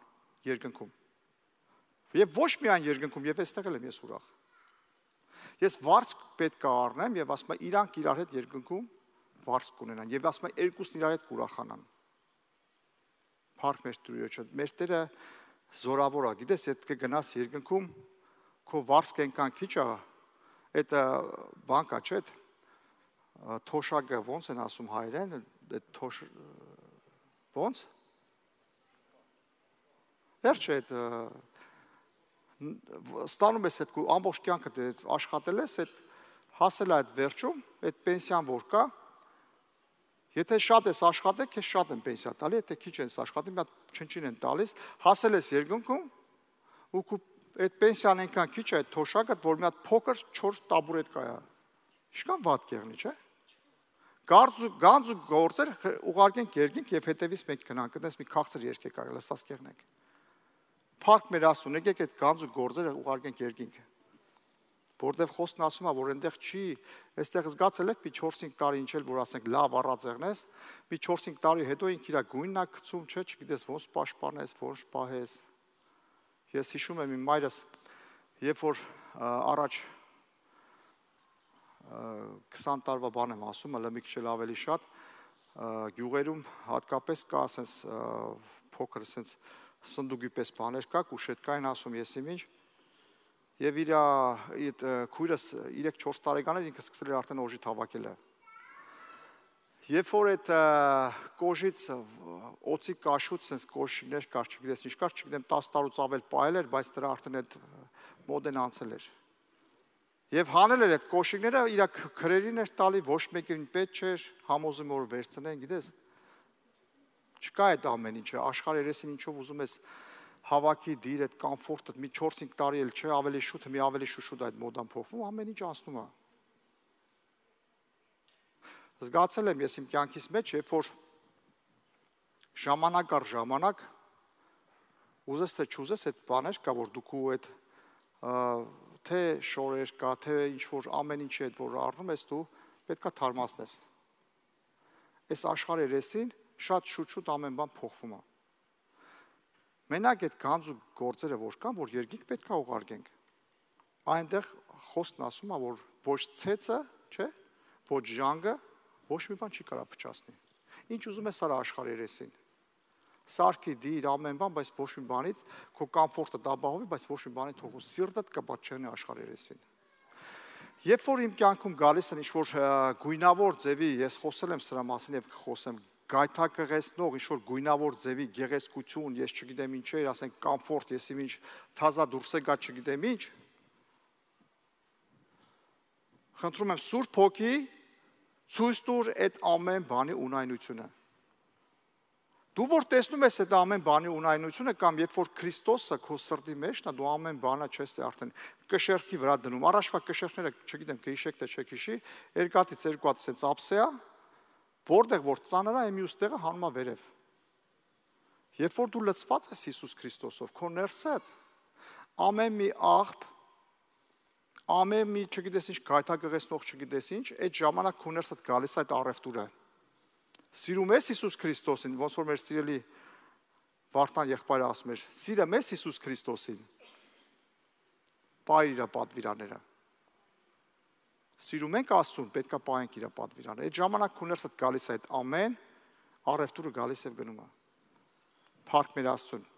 երկնքում եւ ոչ միայն երկնքում եւ այստեղ էլ եմ ես ուրախ ես վարձք պետք է առնեմ եւ ասում է իրանք իրար հետ երկնքում վարձք ունենան եւ ասում է երկուսն իրար հետ կուրախանան Փառք մեր Տիրոջը, մեր Տերը զորավոր է, գիտես, եթե կգնաս երկնքում, քո վարձքը այնքան քիչ է, այդ բանկա չէ, թոշակը ոնց են ասում հայերեն, այդ թոշ ոնց? Վերջ է այդ ստանում ես այդ ամբողջ կյանքը աշխատել ես, այդ հասել է այդ վերջում, այդ պենսիան որ կա, Եթե շատ ես աշխատել, քեզ շատ են պենսիա տալի, եթե քիչ ես աշխատել, մի հատ չնչին են տալիս, հասել ես երկնքում, ու այդ պենսիան այնքան քիչ է, այդ թոշակը, որ մի հատ փոքր չորս տաբուրետ կա։ Ինչքան վատ կեղնի, չէ՞։ Գանձ ու գործեր ուղարկենք երկինք եւ հետևից մենք գնանք, այդպես մի քաղցր երգ եկա, լսած կեղնենք։ Փառք մեր Աստծուն, եկեք այդ գանձ ու գործերը ուղարկենք երկինք։ Որտեվ խոսքն ասում է, որ այնտեղ չի, այստեղ զգացել եք մի չորս-հինգ տարի ինչ էլ որ ասենք լավ առածեղնես, մի չորս-հինգ տարի հետո ինք իր գույնն է գցում, չէ, չգիտես ոնց պաշտպանես, ոնց պահես։ Ես հիշում եմ իմ մայրս, երբ որ առաջ քսան տարվա բան եմ ասում, հələ մի քիչ էլ ավելի շատ, գյուղերում հատկապես կա ասենց փոքր ասենց սնդուկի պես բաներ կա, կուշետկային ասում ես իմ ինչ Եվ իր այդ քույրս երեք-չորս տարեկան էր ինքը սկսել էր արդեն օժիտ հավաքելը։ Երբ որ այդ կոժից օծի կաշուց sense կոշիկներ կար, չգիտես ինչ կար, չգիտեմ տասը տարուց ավել պահել էր, բայց դրա արդեն այդ մոդեն անցել էր։ Եվ հանել էր այդ կոշիկները, իր քրերին էր տալի, ոչ մեկին պետք չէր, համոզում որ վերցնեն, գիտես։ Չկա այդ ամեն ինչը, աշխարհի երեսին ինչով ուզում ես հավաքի դիր այդ կոմֆորտը մի չորս-հինգ տարի էլ չէ, ավելի շուտ, մի ավելի շուշուտ այդ մոդան փոխվում, ամեն ինչ անցնում է։ Զգացել եմ ես իմ կյանքիս մեջ, երբ որ ժամանակ առ ժամանակ ուզես թե չուզես այդ բաներ կա, որ դու քու այդ թե շորեր կա, թե ինչ որ ամեն ինչի այդ որ առնում ես դու պետքա թարմացնես։ Այս աշխարհի երեսին շատ շուտ-շուտ ամեն բան փոխվում է։ Մենակ այդ գանձ ու գործերը որ կան, որ երկինք պետք է ուղարկենք։ Այնտեղ խոսքն ասում է, որ ոչ ցեցը, չէ, ոչ ժանգը, ոչ մի բան չի կարա փչացնի։ Ինչ ուզում ես արա աշխարհի երեսին։ Սարքի դիր ամեն բան, բայց ոչ մի բանից քո կոմֆորտը դաբահովի, բայց ոչ մի բանի թողու սիրտդ կպատ չեղնի աշխարհի երեսին։ Երբ որ իմ կյանքում գալիս են ինչ որ գույնավոր ձևի, ես խոսել եմ սրա մասին եւ կխոսեմ գայթակղեցնող ինչ որ գույնավոր ձևի գեղեցկություն, ես չգիտեմ ինչ է, ասենք կոմֆորտ, ես իմ ինչ թազա դուրս է գա, չգիտեմ ինչ։ Խնդրում եմ Սուրբ Հոգի ցույց տուր այդ ամեն բանի ունայնությունը։ Դու որ տեսնում ես այդ ամեն բանի ունայնությունը կամ երբ որ Քրիստոսը քո սրտի մեջն է, դու ամեն բանը չես արդեն կշերքի վրա դնում։ Առաջվա կշերքները, չգիտեմ, կհիշեք թե չեք հիշի, երկաթից երկու հատ sense ափսեա Որտեղ որ ծանր է, մյուս տեղը հանում է վերև։ Երբ որ դու լցված ես Հիսուս Քրիստոսով, քո ներսդ ամեն մի աղբ, ամեն մի չգիտես ինչ գայթակղեցնող չգիտես ինչ, այդ ժամանակ քո ներսդ գալիս այդ առևտուրը։ Սիրում ես Հիսուս Քրիստոսին, ոնց որ մեր սիրելի Վարդան եղբայրը ասում էր, սիրում ես Հիսուս Քրիստոսին։ պայր իր պատվիրաները։ Սիրում ենք Աստծուն, պետք է պահենք իր պատվիրանները։ Այդ ժամանակ քո ներսդ գալիս է այդ ամեն առևտուրը գալիս է գնում է։ Փառք մեր Աստծուն։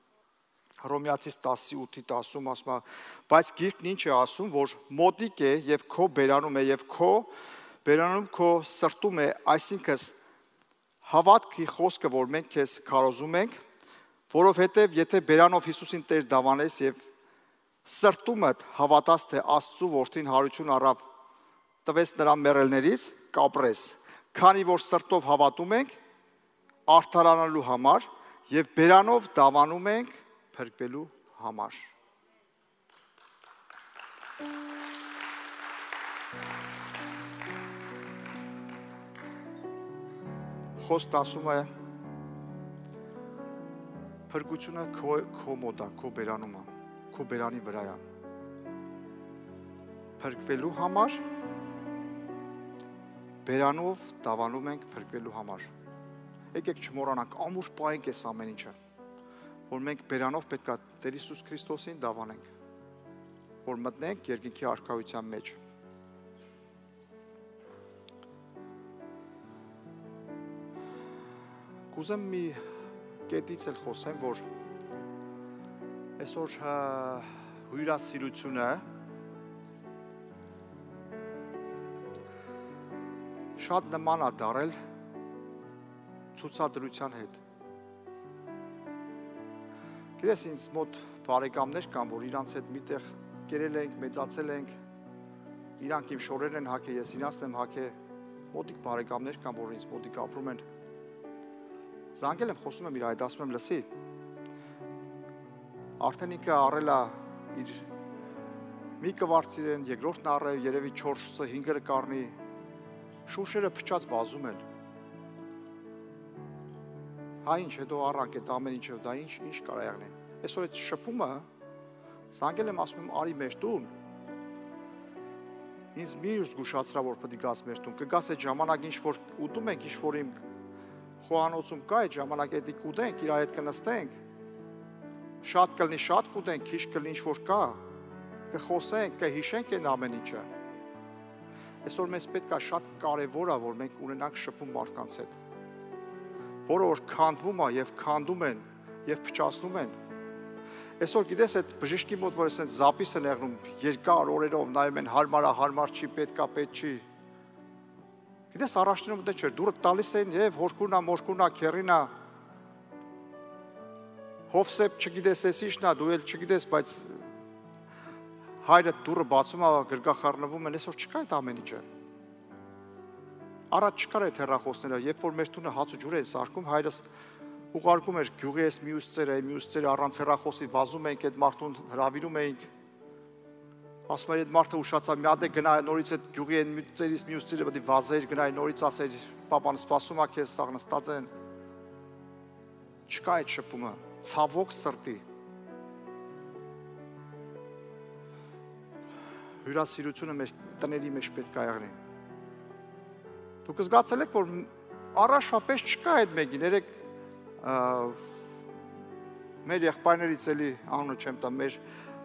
Հռոմեացիս տասի ութի տասում ասում է, բայց Գիրքն ինչ է ասում, որ մոտիկ է եւ քո բերանում է եւ քո բերանում քո սրտում է, այսինքն հավատքի խոսքը, որ մենք քեզ քարոզում ենք, որովհետեւ եթե բերանով Հիսուսին Տեր դավանես եւ սրտումդ հավատաս, թե Աստծու որդին հարություն առավ, տվես նրա մեռելներից, կապրես, քանի որ սրտով հավատում ենք արդարանալու համար եւ բերանով դավանում ենք փրկվելու համար։ Խոսքն ասում է փրկությունը քո քո մոտ է, քո բերանում է, քո բերանի վրա է։ Փրկվելու համար բերանով դավանում ենք փրկվելու համար։ Եկեք չմոռանանք, ամուր պահենք այս ամեն ինչը, որ մենք բերանով պետք է Տեր Հիսուս Քրիստոսին դավանենք, որ մտնենք երկինքի արքայության մեջ։ Կուզեմ մի կետից էլ խոսեմ, որ այսօր հյուրասիրությունը շատ նման է դարել ցուցադրության հետ։ Գիտես, ինձ մոտ բարեկամներ կան, որ իրանց հետ միտեղ կերել ենք, մեծացել ենք, իրանք իմ շորերն են հագել, ես իրանցն եմ հագել, մոտիկ բարեկամներ կան, որ ինձ մոտիկ ապրում են։ Զանգել եմ, խոսում եմ իր այդ, ասում եմ, լսի, արդեն ինքը առել է իր մի կվարձիրեն, երկրորդն առել, երևի չորսը, հինգերը կառնի, շուշերը փչած վազում են։ Հա ինչ, հետո առանք այդ ամեն ինչը, դա ինչ, ինչ կարա եղնի։ Այսօր այդ շփումը, զանգել եմ, ասում եմ, արի մեր տուն, ինձ մի ուր զգուշացրա, որ պետք է գաս մեր տուն, կգաս այդ ժամանակ ինչ որ ուտում ենք, ինչ որ իմ խոհանոցում կա, այդ ժամանակ էդի կուտենք, իրար հետ կնստենք, շատ կլնի, շատ կուտենք, քիչ կլնի ինչ որ կա, կխոսենք, կհիշենք այն ամեն ինչը։ Այսօր մեզ պետք է շատ կարևոր է, որ մենք ունենանք շփում մարդկանց հետ, որը որ քանդվում է եւ քանդում են եւ փչացնում են։ Այսօր գիտես այդ բժիշկի մոտ, որ ասեն զապիս են եղնում, երկար օրերով նայում են, հարմար է, հարմար չի, պետք է, պետք չի։ Գիտես առաջնում դե չէ, դուրը տալիս են եւ հորքունա, մորքունա, քերինա։ Հովսեփ չգիտես էս ինչն է, դու էլ չգիտես, բայց հայրը դուրը բացում է, գրգախառնվում են, այսօր չկա այդ ամեն ինչը։ Առաջ չկար այդ հեռախոսները, երբ որ մեր տունը հաց ու ջուր է սարքում, հայրս ուղարկում էր գյուղի այս մյուս ծերը, մյուս ծերը առանց հեռախոսի վազում էինք, այդ մարդուն հրավիրում էինք։ Ասում էր այդ մարդը ուշացավ, մի հատ է գնա նորից այդ գյուղի այն ծերից մյուս ծերը պետք է վազեր, գնա նորից ասեր, պապան սպասում է քեզ, սաղ նստած են։ Չկա այդ շփումը, ցավոք սրտի։ Հյուրասիրությունը մեր տների մեջ պետք է եղնի։ Դուք զգացել եք, որ առաջվա պես չկա այդ մեկին, երեք մեր եղբայրներից էլի անունը չեմ տա, մեր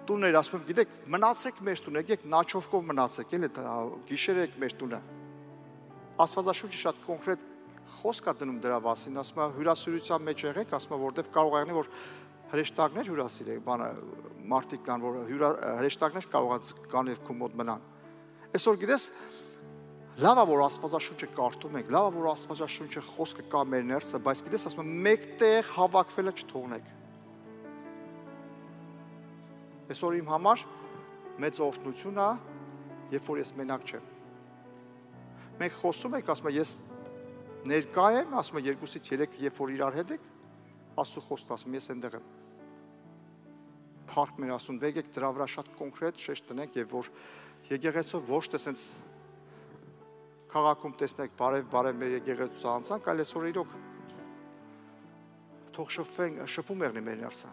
տուններ, ասում եմ, գիտեք, մնացեք մեր տուն, եկեք նաչովկով մնացեք, էլի գիշեր եք մեր տունը։ Աստվածաշունչը շատ կոնկրետ խոսք է դնում դրա մասին, ասում է հյուրասիրության մեջ եղեք, ասում է, որտեվ կարող է եղնի, որ հրեշտակներ հյուրասիրեք, բանը մարդիկ կան, որ հրեշտակներ կարող կան եւ քո մոտ մնան։ Այսօր գիտես, լավ է, որ Աստվածաշունչը կարդում ենք, լավ է, որ Աստվածաշունչը խոսքը կա մեր ներսը, բայց գիտես, ասում եմ, մեկտեղ հավաքվելը չթողնեք։ Այսօր իմ համար մեծ օրհնություն է, երբ որ ես մենակ չեմ։ Մենք խոսում ենք, ասում եմ, ես ներկա եմ, ասում եմ, երկուսից երեք, երբ որ իրար հետ եք, Աստծո խոսքը ասում, ես այնտեղ եմ։ Փառք մեր Աստծուն, եկեք դրա վրա շատ կոնկրետ շեշտ տնենք եւ որ եկեղեցով ոչ թե սենց քաղաքում տեսնեք բարև-բարև մեր եկեղեցու անցանք, այլ այսօր իրոք թող շփվենք, շփում եղնի մեր ներսը։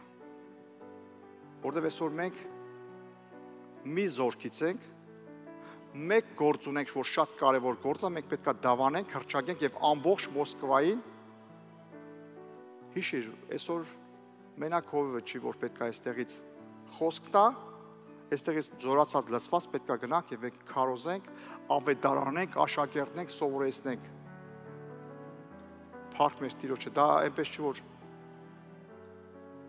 Որտեւ այսօր մենք մի զորքից ենք, մեկ գործ ունենք, որ շատ կարևոր գործ է, մենք պետք է դավանենք, հռչակենք եւ ամբողջ Մոսկվային հիշիր, այսօր մենակ հովիվը չի, որ պետք է այստեղից խոսք տա, այստեղից զորացած լցված պետք է գնանք եւ մենք քարոզենք, ավետարանենք, աշակերտենք, սովորեցնենք։ Փառք մեր Տիրոջը, դա այնպես չի որ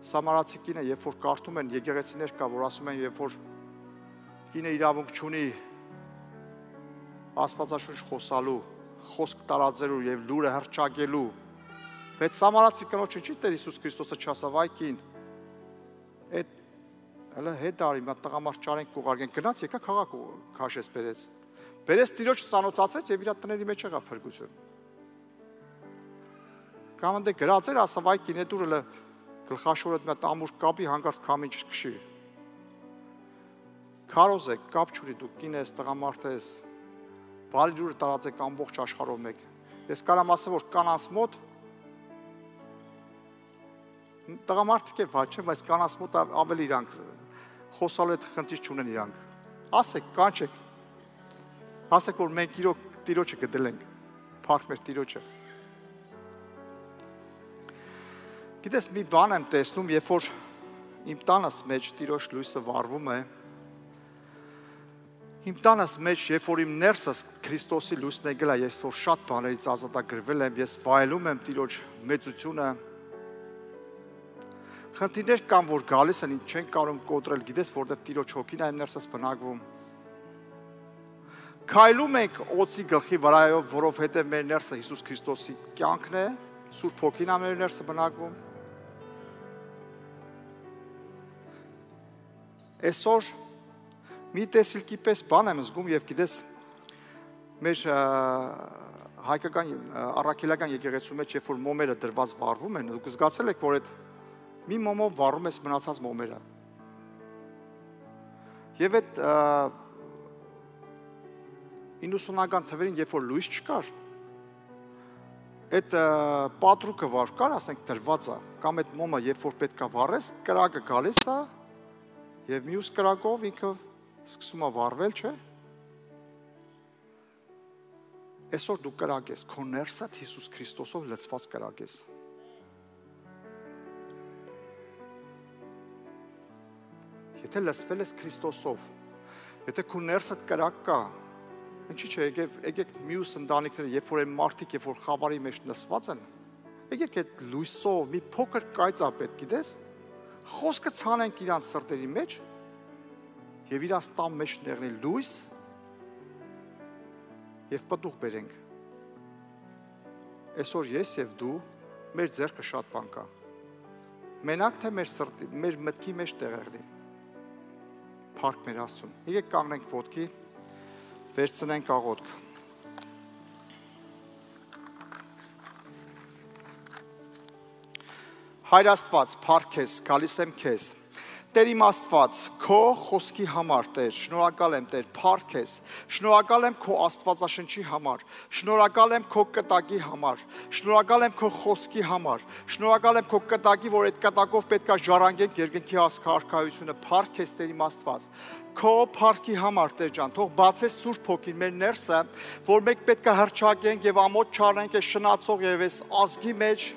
Սամարացի կինը, երբ որ կարդում են եկեղեցիներ կա, որ ասում են, երբ որ կինը իրավունք չունի Աստվածաշունչ խոսալու, խոսք տարածելու եւ լուրը հռչակելու, բայց Սամարացի կնոջը չի Տեր Հիսուս Քրիստոսը չասավ, այ կին, այդ հələ հետ արի, մա տղամարդ ճարենք կուղարկեն, գնաց եկա քաղաք քաշեց բերեց։ Բերեց Տիրոջ ծանոթացեց եւ իր տների մեջ եղավ փրկություն։ Կամ ընդ գրած էր, ասավ, այ կին, այդ ուրը գլխաշորդ մի հատ ամուր կապի հանկարծ քամին չքշի։ Քարոզեք, կապ չունի, դուք կին ես, տղամարդ ես, բարի լուրը տարածեք ամբողջ աշխարհով մեկ։ Ես կարամ ասեմ, որ կանանց մոտ տղամարդիկ է վաճ, բայց կանանց մոտ ավելի իրանք խոսալու այդ խնդիր չունեն իրանք։ Ասեք, կանչեք։ Ասեք, որ մենք իրոք Տիրոջը գտել ենք։ Փառք մեր Տիրոջը։ Գիտես, մի բան եմ տեսնում, երբ որ իմ տանս մեջ Տիրոջ լույսը վառվում է, իմ տանս մեջ, երբ որ իմ ներսս Քրիստոսի լույսն է գլա, ես որ շատ բաներից ազատագրվել եմ, ես վայելում եմ Տիրոջ մեծությունը, խնդիրներ կան, որ գալիս են, չեն կարող կոտրել, գիտես, որտեղ Տիրոջ հոգին է իմ ներսս բնակվում։ Քայլում ենք օծի գլխի վրայով, որովհետև մեր ներսը Հիսուս Քրիստոսի կյանքն է, Սուրբ Հոգին է մեր ներսը բնակվում։ Այսօր մի տեսիլքի պես բան եմ զգում եւ գիտես մեր հայկական առաքելական եկեղեցու մեջ երբ որ մոմերը դրված վառվում են դուք զգացել եք որ այդ մի մոմով վառում ես մնացած մոմերը եւ այդ իննուսունական թվերին երբ որ լույս չկար այդ պատրուկը վար կար ասենք դրված է կամ այդ մոմը երբ որ պետքա վառես կրակը գալիս է եւ մյուս կրակով ինքը սկսում է վառվել, չէ՞։ Այսօր դու կրակ ես, քո ներսդ Հիսուս Քրիստոսով լցված կրակ ես։ Եթե լցվել ես Քրիստոսով, եթե քո ներսդ կրակ կա, ինչի՞ չէ, եկեք մյուս ընտանիքները, երբ որ են մարդիկ, երբ որ խավարի մեջ լցված են, եկեք այդ լույսով մի փոքր կայծա պետք, գիտես, խոսքը ցանենք իրանց սրտերի մեջ եւ իրանց տան մեջ ներնել լույս եւ պտուղ բերենք։ Այսօր ես եւ դու մեր ձեռքը շատ բան կա։ Մենակ թե մեր սրտի, մեր մտքի մեջ տեղերնի։ Փառք մեր Աստծուն։ Եկեք կանգնենք ոտքի, վերցնենք աղոթք։ Հայր Աստված, փառք քեզ, գալիս եմ քեզ։ Տեր իմ Աստված, քո խոսքի համար, Տեր, շնորհակալ եմ, Տեր, փառք քեզ։ Շնորհակալ եմ քո Աստվածաշնչի համար, շնորհակալ եմ քո կտակի համար, շնորհակալ եմ քո խոսքի համար, շնորհակալ եմ քո կտակի, որ այդ կտակով պետքա ժառանգենք երկնքի արքայությունը, փառք քեզ, Տեր իմ Աստված։ Քո փառքի համար, Տեր ջան, թող բացես Սուրբ Հոգին մեր ներսը, որ մենք պետքա հռչակենք եւ ամոթ չառնենք այս շնացող եւ այս ազգի մեջ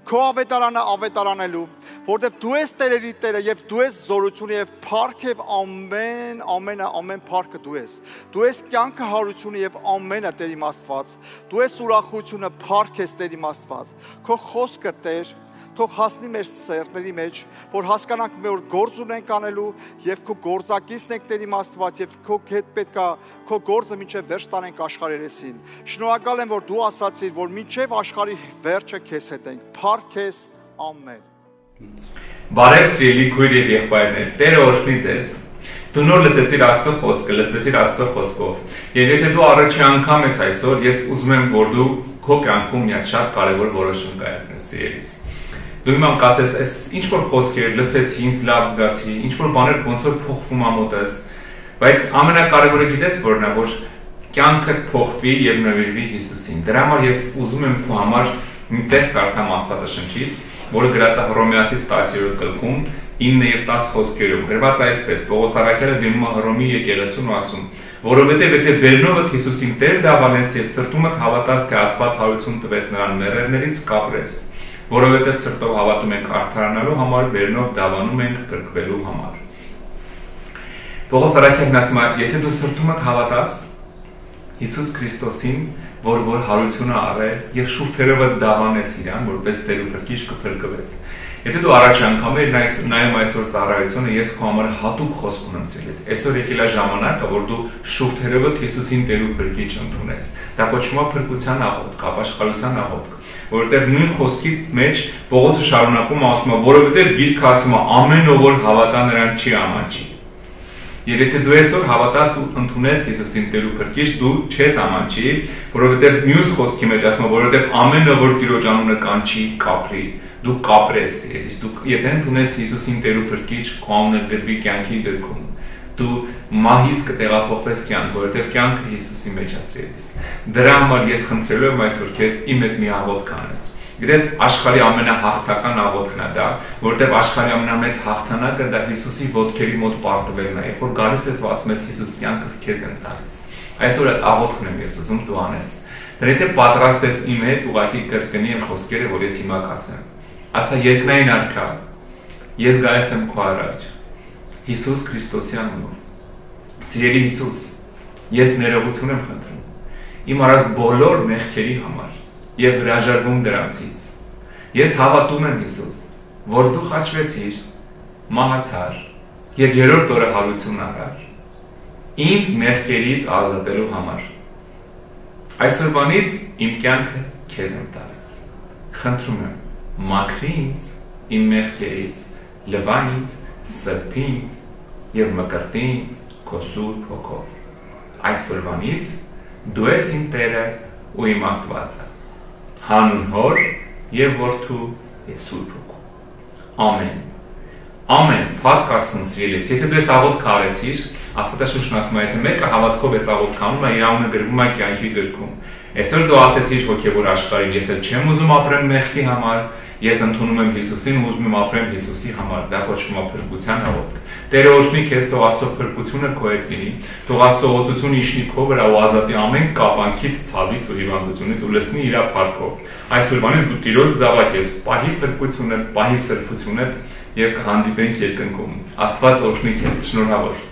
Քո ավետարանը ավետարանելու, որտեղ դու ես Տերերի Տերը եւ դու ես զորությունը եւ փառք եւ ամեն ամենը ամեն փառքը դու ես։ Դու ես կյանքը հարությունը եւ ամենը Տեր իմ Աստված։ Դու ես ուրախությունը, փառք ես Տեր իմ Աստված։ Քո խոսքը Տեր թող հասնի մեր սերտների մեջ, որ հասկանանք մեր գործ ունենք անելու եւ քո գործակիցն եք Տեր իմ Աստված եւ քո հետ պետքա քո գործը մինչեւ վերջ տանենք աշխարհի երեսին։ Շնորհակալ եմ, որ դու ասացիր, որ մինչեւ աշխարհի վերջը քեզ հետ ենք։ Փառք քեզ, ամեն։ Բարև սիրելի քույր եւ եղբայրներ, Տերը օրհնի ձեզ։ Դու նոր լսեցիր Աստծո խոսքը, լսվեցիր Աստծո խոսքով։ Եվ եթե դու առաջի անգամ ես այսօր, ես ուզում եմ, որ դու քո կյանքում մի հատ շատ կարևոր որոշում կայացնես, սիրելիս։ Դու իմ կասես, այս ինչ որ խոսքեր լսեցի, ինձ լավ զգացի, ինչ որ բաներ ոնց որ փոխվում ա մոտս, բայց ամենակարևորը գիտես որն է, որ կյանքդ փոխվի եւ նվիրվի Հիսուսին։ Դրա համար ես ուզում եմ քո համար մի տեղ կարդամ Աստվածաշնչից, որը գրած է Հռոմեացիս տասներորդ գլխում ինը եւ տասը խոսքերով։ Գրված է այսպես. Պողոս առաքյալը դիմում է Հռոմի եկեղեցուն ու ասում. որովհետև եթե բերնովդ Հիսուսին Տեր դավանես եւ սրտումդ հավատաս, թե Աստված հարություն տվեց նրան մեռելներից կապրես, որովհետև սրտով հավատում ենք արդարանալու համար, բերնով դավանում ենք կրկվելու համար։ Պողոս առաքյալն ասում է, եթե դու սրտումդ հավատաս Հիսուս Քրիստոսին, որ որ հարությունը արել եւ շուրթերովդ դավանես իրան, որպես Տեր ու Փրկիչ կփրկվես։ Եթե դու առաջ անգամ ես նայում այսօր ծառայությունը, ես քո համար հատուկ խոսք ունեմ ցելիս։ Այսօր եկել է ժամանակը, որ դու շուրթերովդ Հիսուսին Տեր ու Փրկիչ ընդունես։ Դա կոչվում է փրկության աղոթք, ապաշխարության աղոթք, որովհետեւ նույն խոսքի մեջ Պողոսը շարունակում ասում է, որովհետեւ Գիրքը ասում է, ամեն ով որ հավատա նրան չի ամանչի։ Եվ եթե դու այսօր հավատաս ու ընդունես Հիսուսին Տեր ու Փրկիչ, դու չես ամանչի, որովհետև մյուս խոսքի մեջ ասում է, որովհետև ամենը որ Տիրոջ անունը կանչի, կապրի, դու կապրես, դու եթե ընդունես Հիսուսին Տեր ու Փրկիչ, քո անունը գրվի կյանքի գրքում, դու մահից կտեղափոխվես կյանք, որովհետև կյանքը Հիսուսի մեջ է սիրելիս։ Դրա համար ես խնդրելու եմ այսօր քեզ իմ հետ մի աղոթք անես։ Գիտես, աշխարհի ամենահաղթական աղոթքն է դա, որովհետև աշխարհի ամենամեծ հաղթանակը դա Հիսուսի ոտքերի մոտ պարտվելն է, երբ որ գալիս ես ու ասում ես Հիսուս, կյանքս քեզ եմ տալիս։ Այսօր այդ աղոթքն եմ ես ուզում դու անես։ Դրա եթե պատրաստ ես իմ հետ ուղղակի կրկնի իմ խոսքերը, որ ես հիմա կասեմ։ Ասա երկնային արքա, ես գալիս եմ քո առաջ։ Հիսուս Քրիստոսի անունով։ Սիրելի Հիսուս, ես ներողություն եմ խնդրում իմ արած բոլոր մեղքերի համար եւ հրաժարվում դրանցից։ Ես հավատում եմ Հիսուս, որ դու խաչվեցիր, մահացար եւ երրորդ օրը հարություն արար ինձ մեղքերից ազատելու համար։ Այսօրվանից իմ կյանքը քեզ եմ տալիս։ Խնդրում եմ, մաքրի ինձ իմ մեղքերից, լվա ինձ, սրբի ինձ եւ մկրտի ինձ քո սուրբ հոգով։ Այսօրվանից դու ես իմ Տերը ու իմ Աստվածը։ Հանուն Հոր եւ Որդու եւ Սուրբ Հոգու։ Ամեն։ Ամեն։ Փառք Աստծուն սիրելիս։ Եթե դու ես աղոթք արեցիր, Աստվածաշունչն ասում է, եթե մեկը հավատքով ես աղոթք անում, իր անունը գրվում է կյանքի գրքում։ Այսօր դու ասեցիր հոգեվոր աշխարհին, ես էլ չեմ ուզում ապրեմ մեղքի համար, ես ընդունում եմ Հիսուսին ու ուզում եմ ապրեմ Հիսուսի համար։ Դա կոչվում է փրկության աղոթք։ Տերը օրհնի քեզ, թող Աստծո փրկությունը քո հետ լինի, թող Աստծո օծությունը իջնի քո վրա ու ազատի ամեն կապանքից, ցավից ու հիվանդությունից ու լցնի իր փառքով։ Այսօրվանից դու Տիրոջ զավակ ես, պահի փրկությունը, պահի սրբությունը եւ կհանդիպենք երկնքում։ Աստված օրհնի քեզ, շնորհավոր։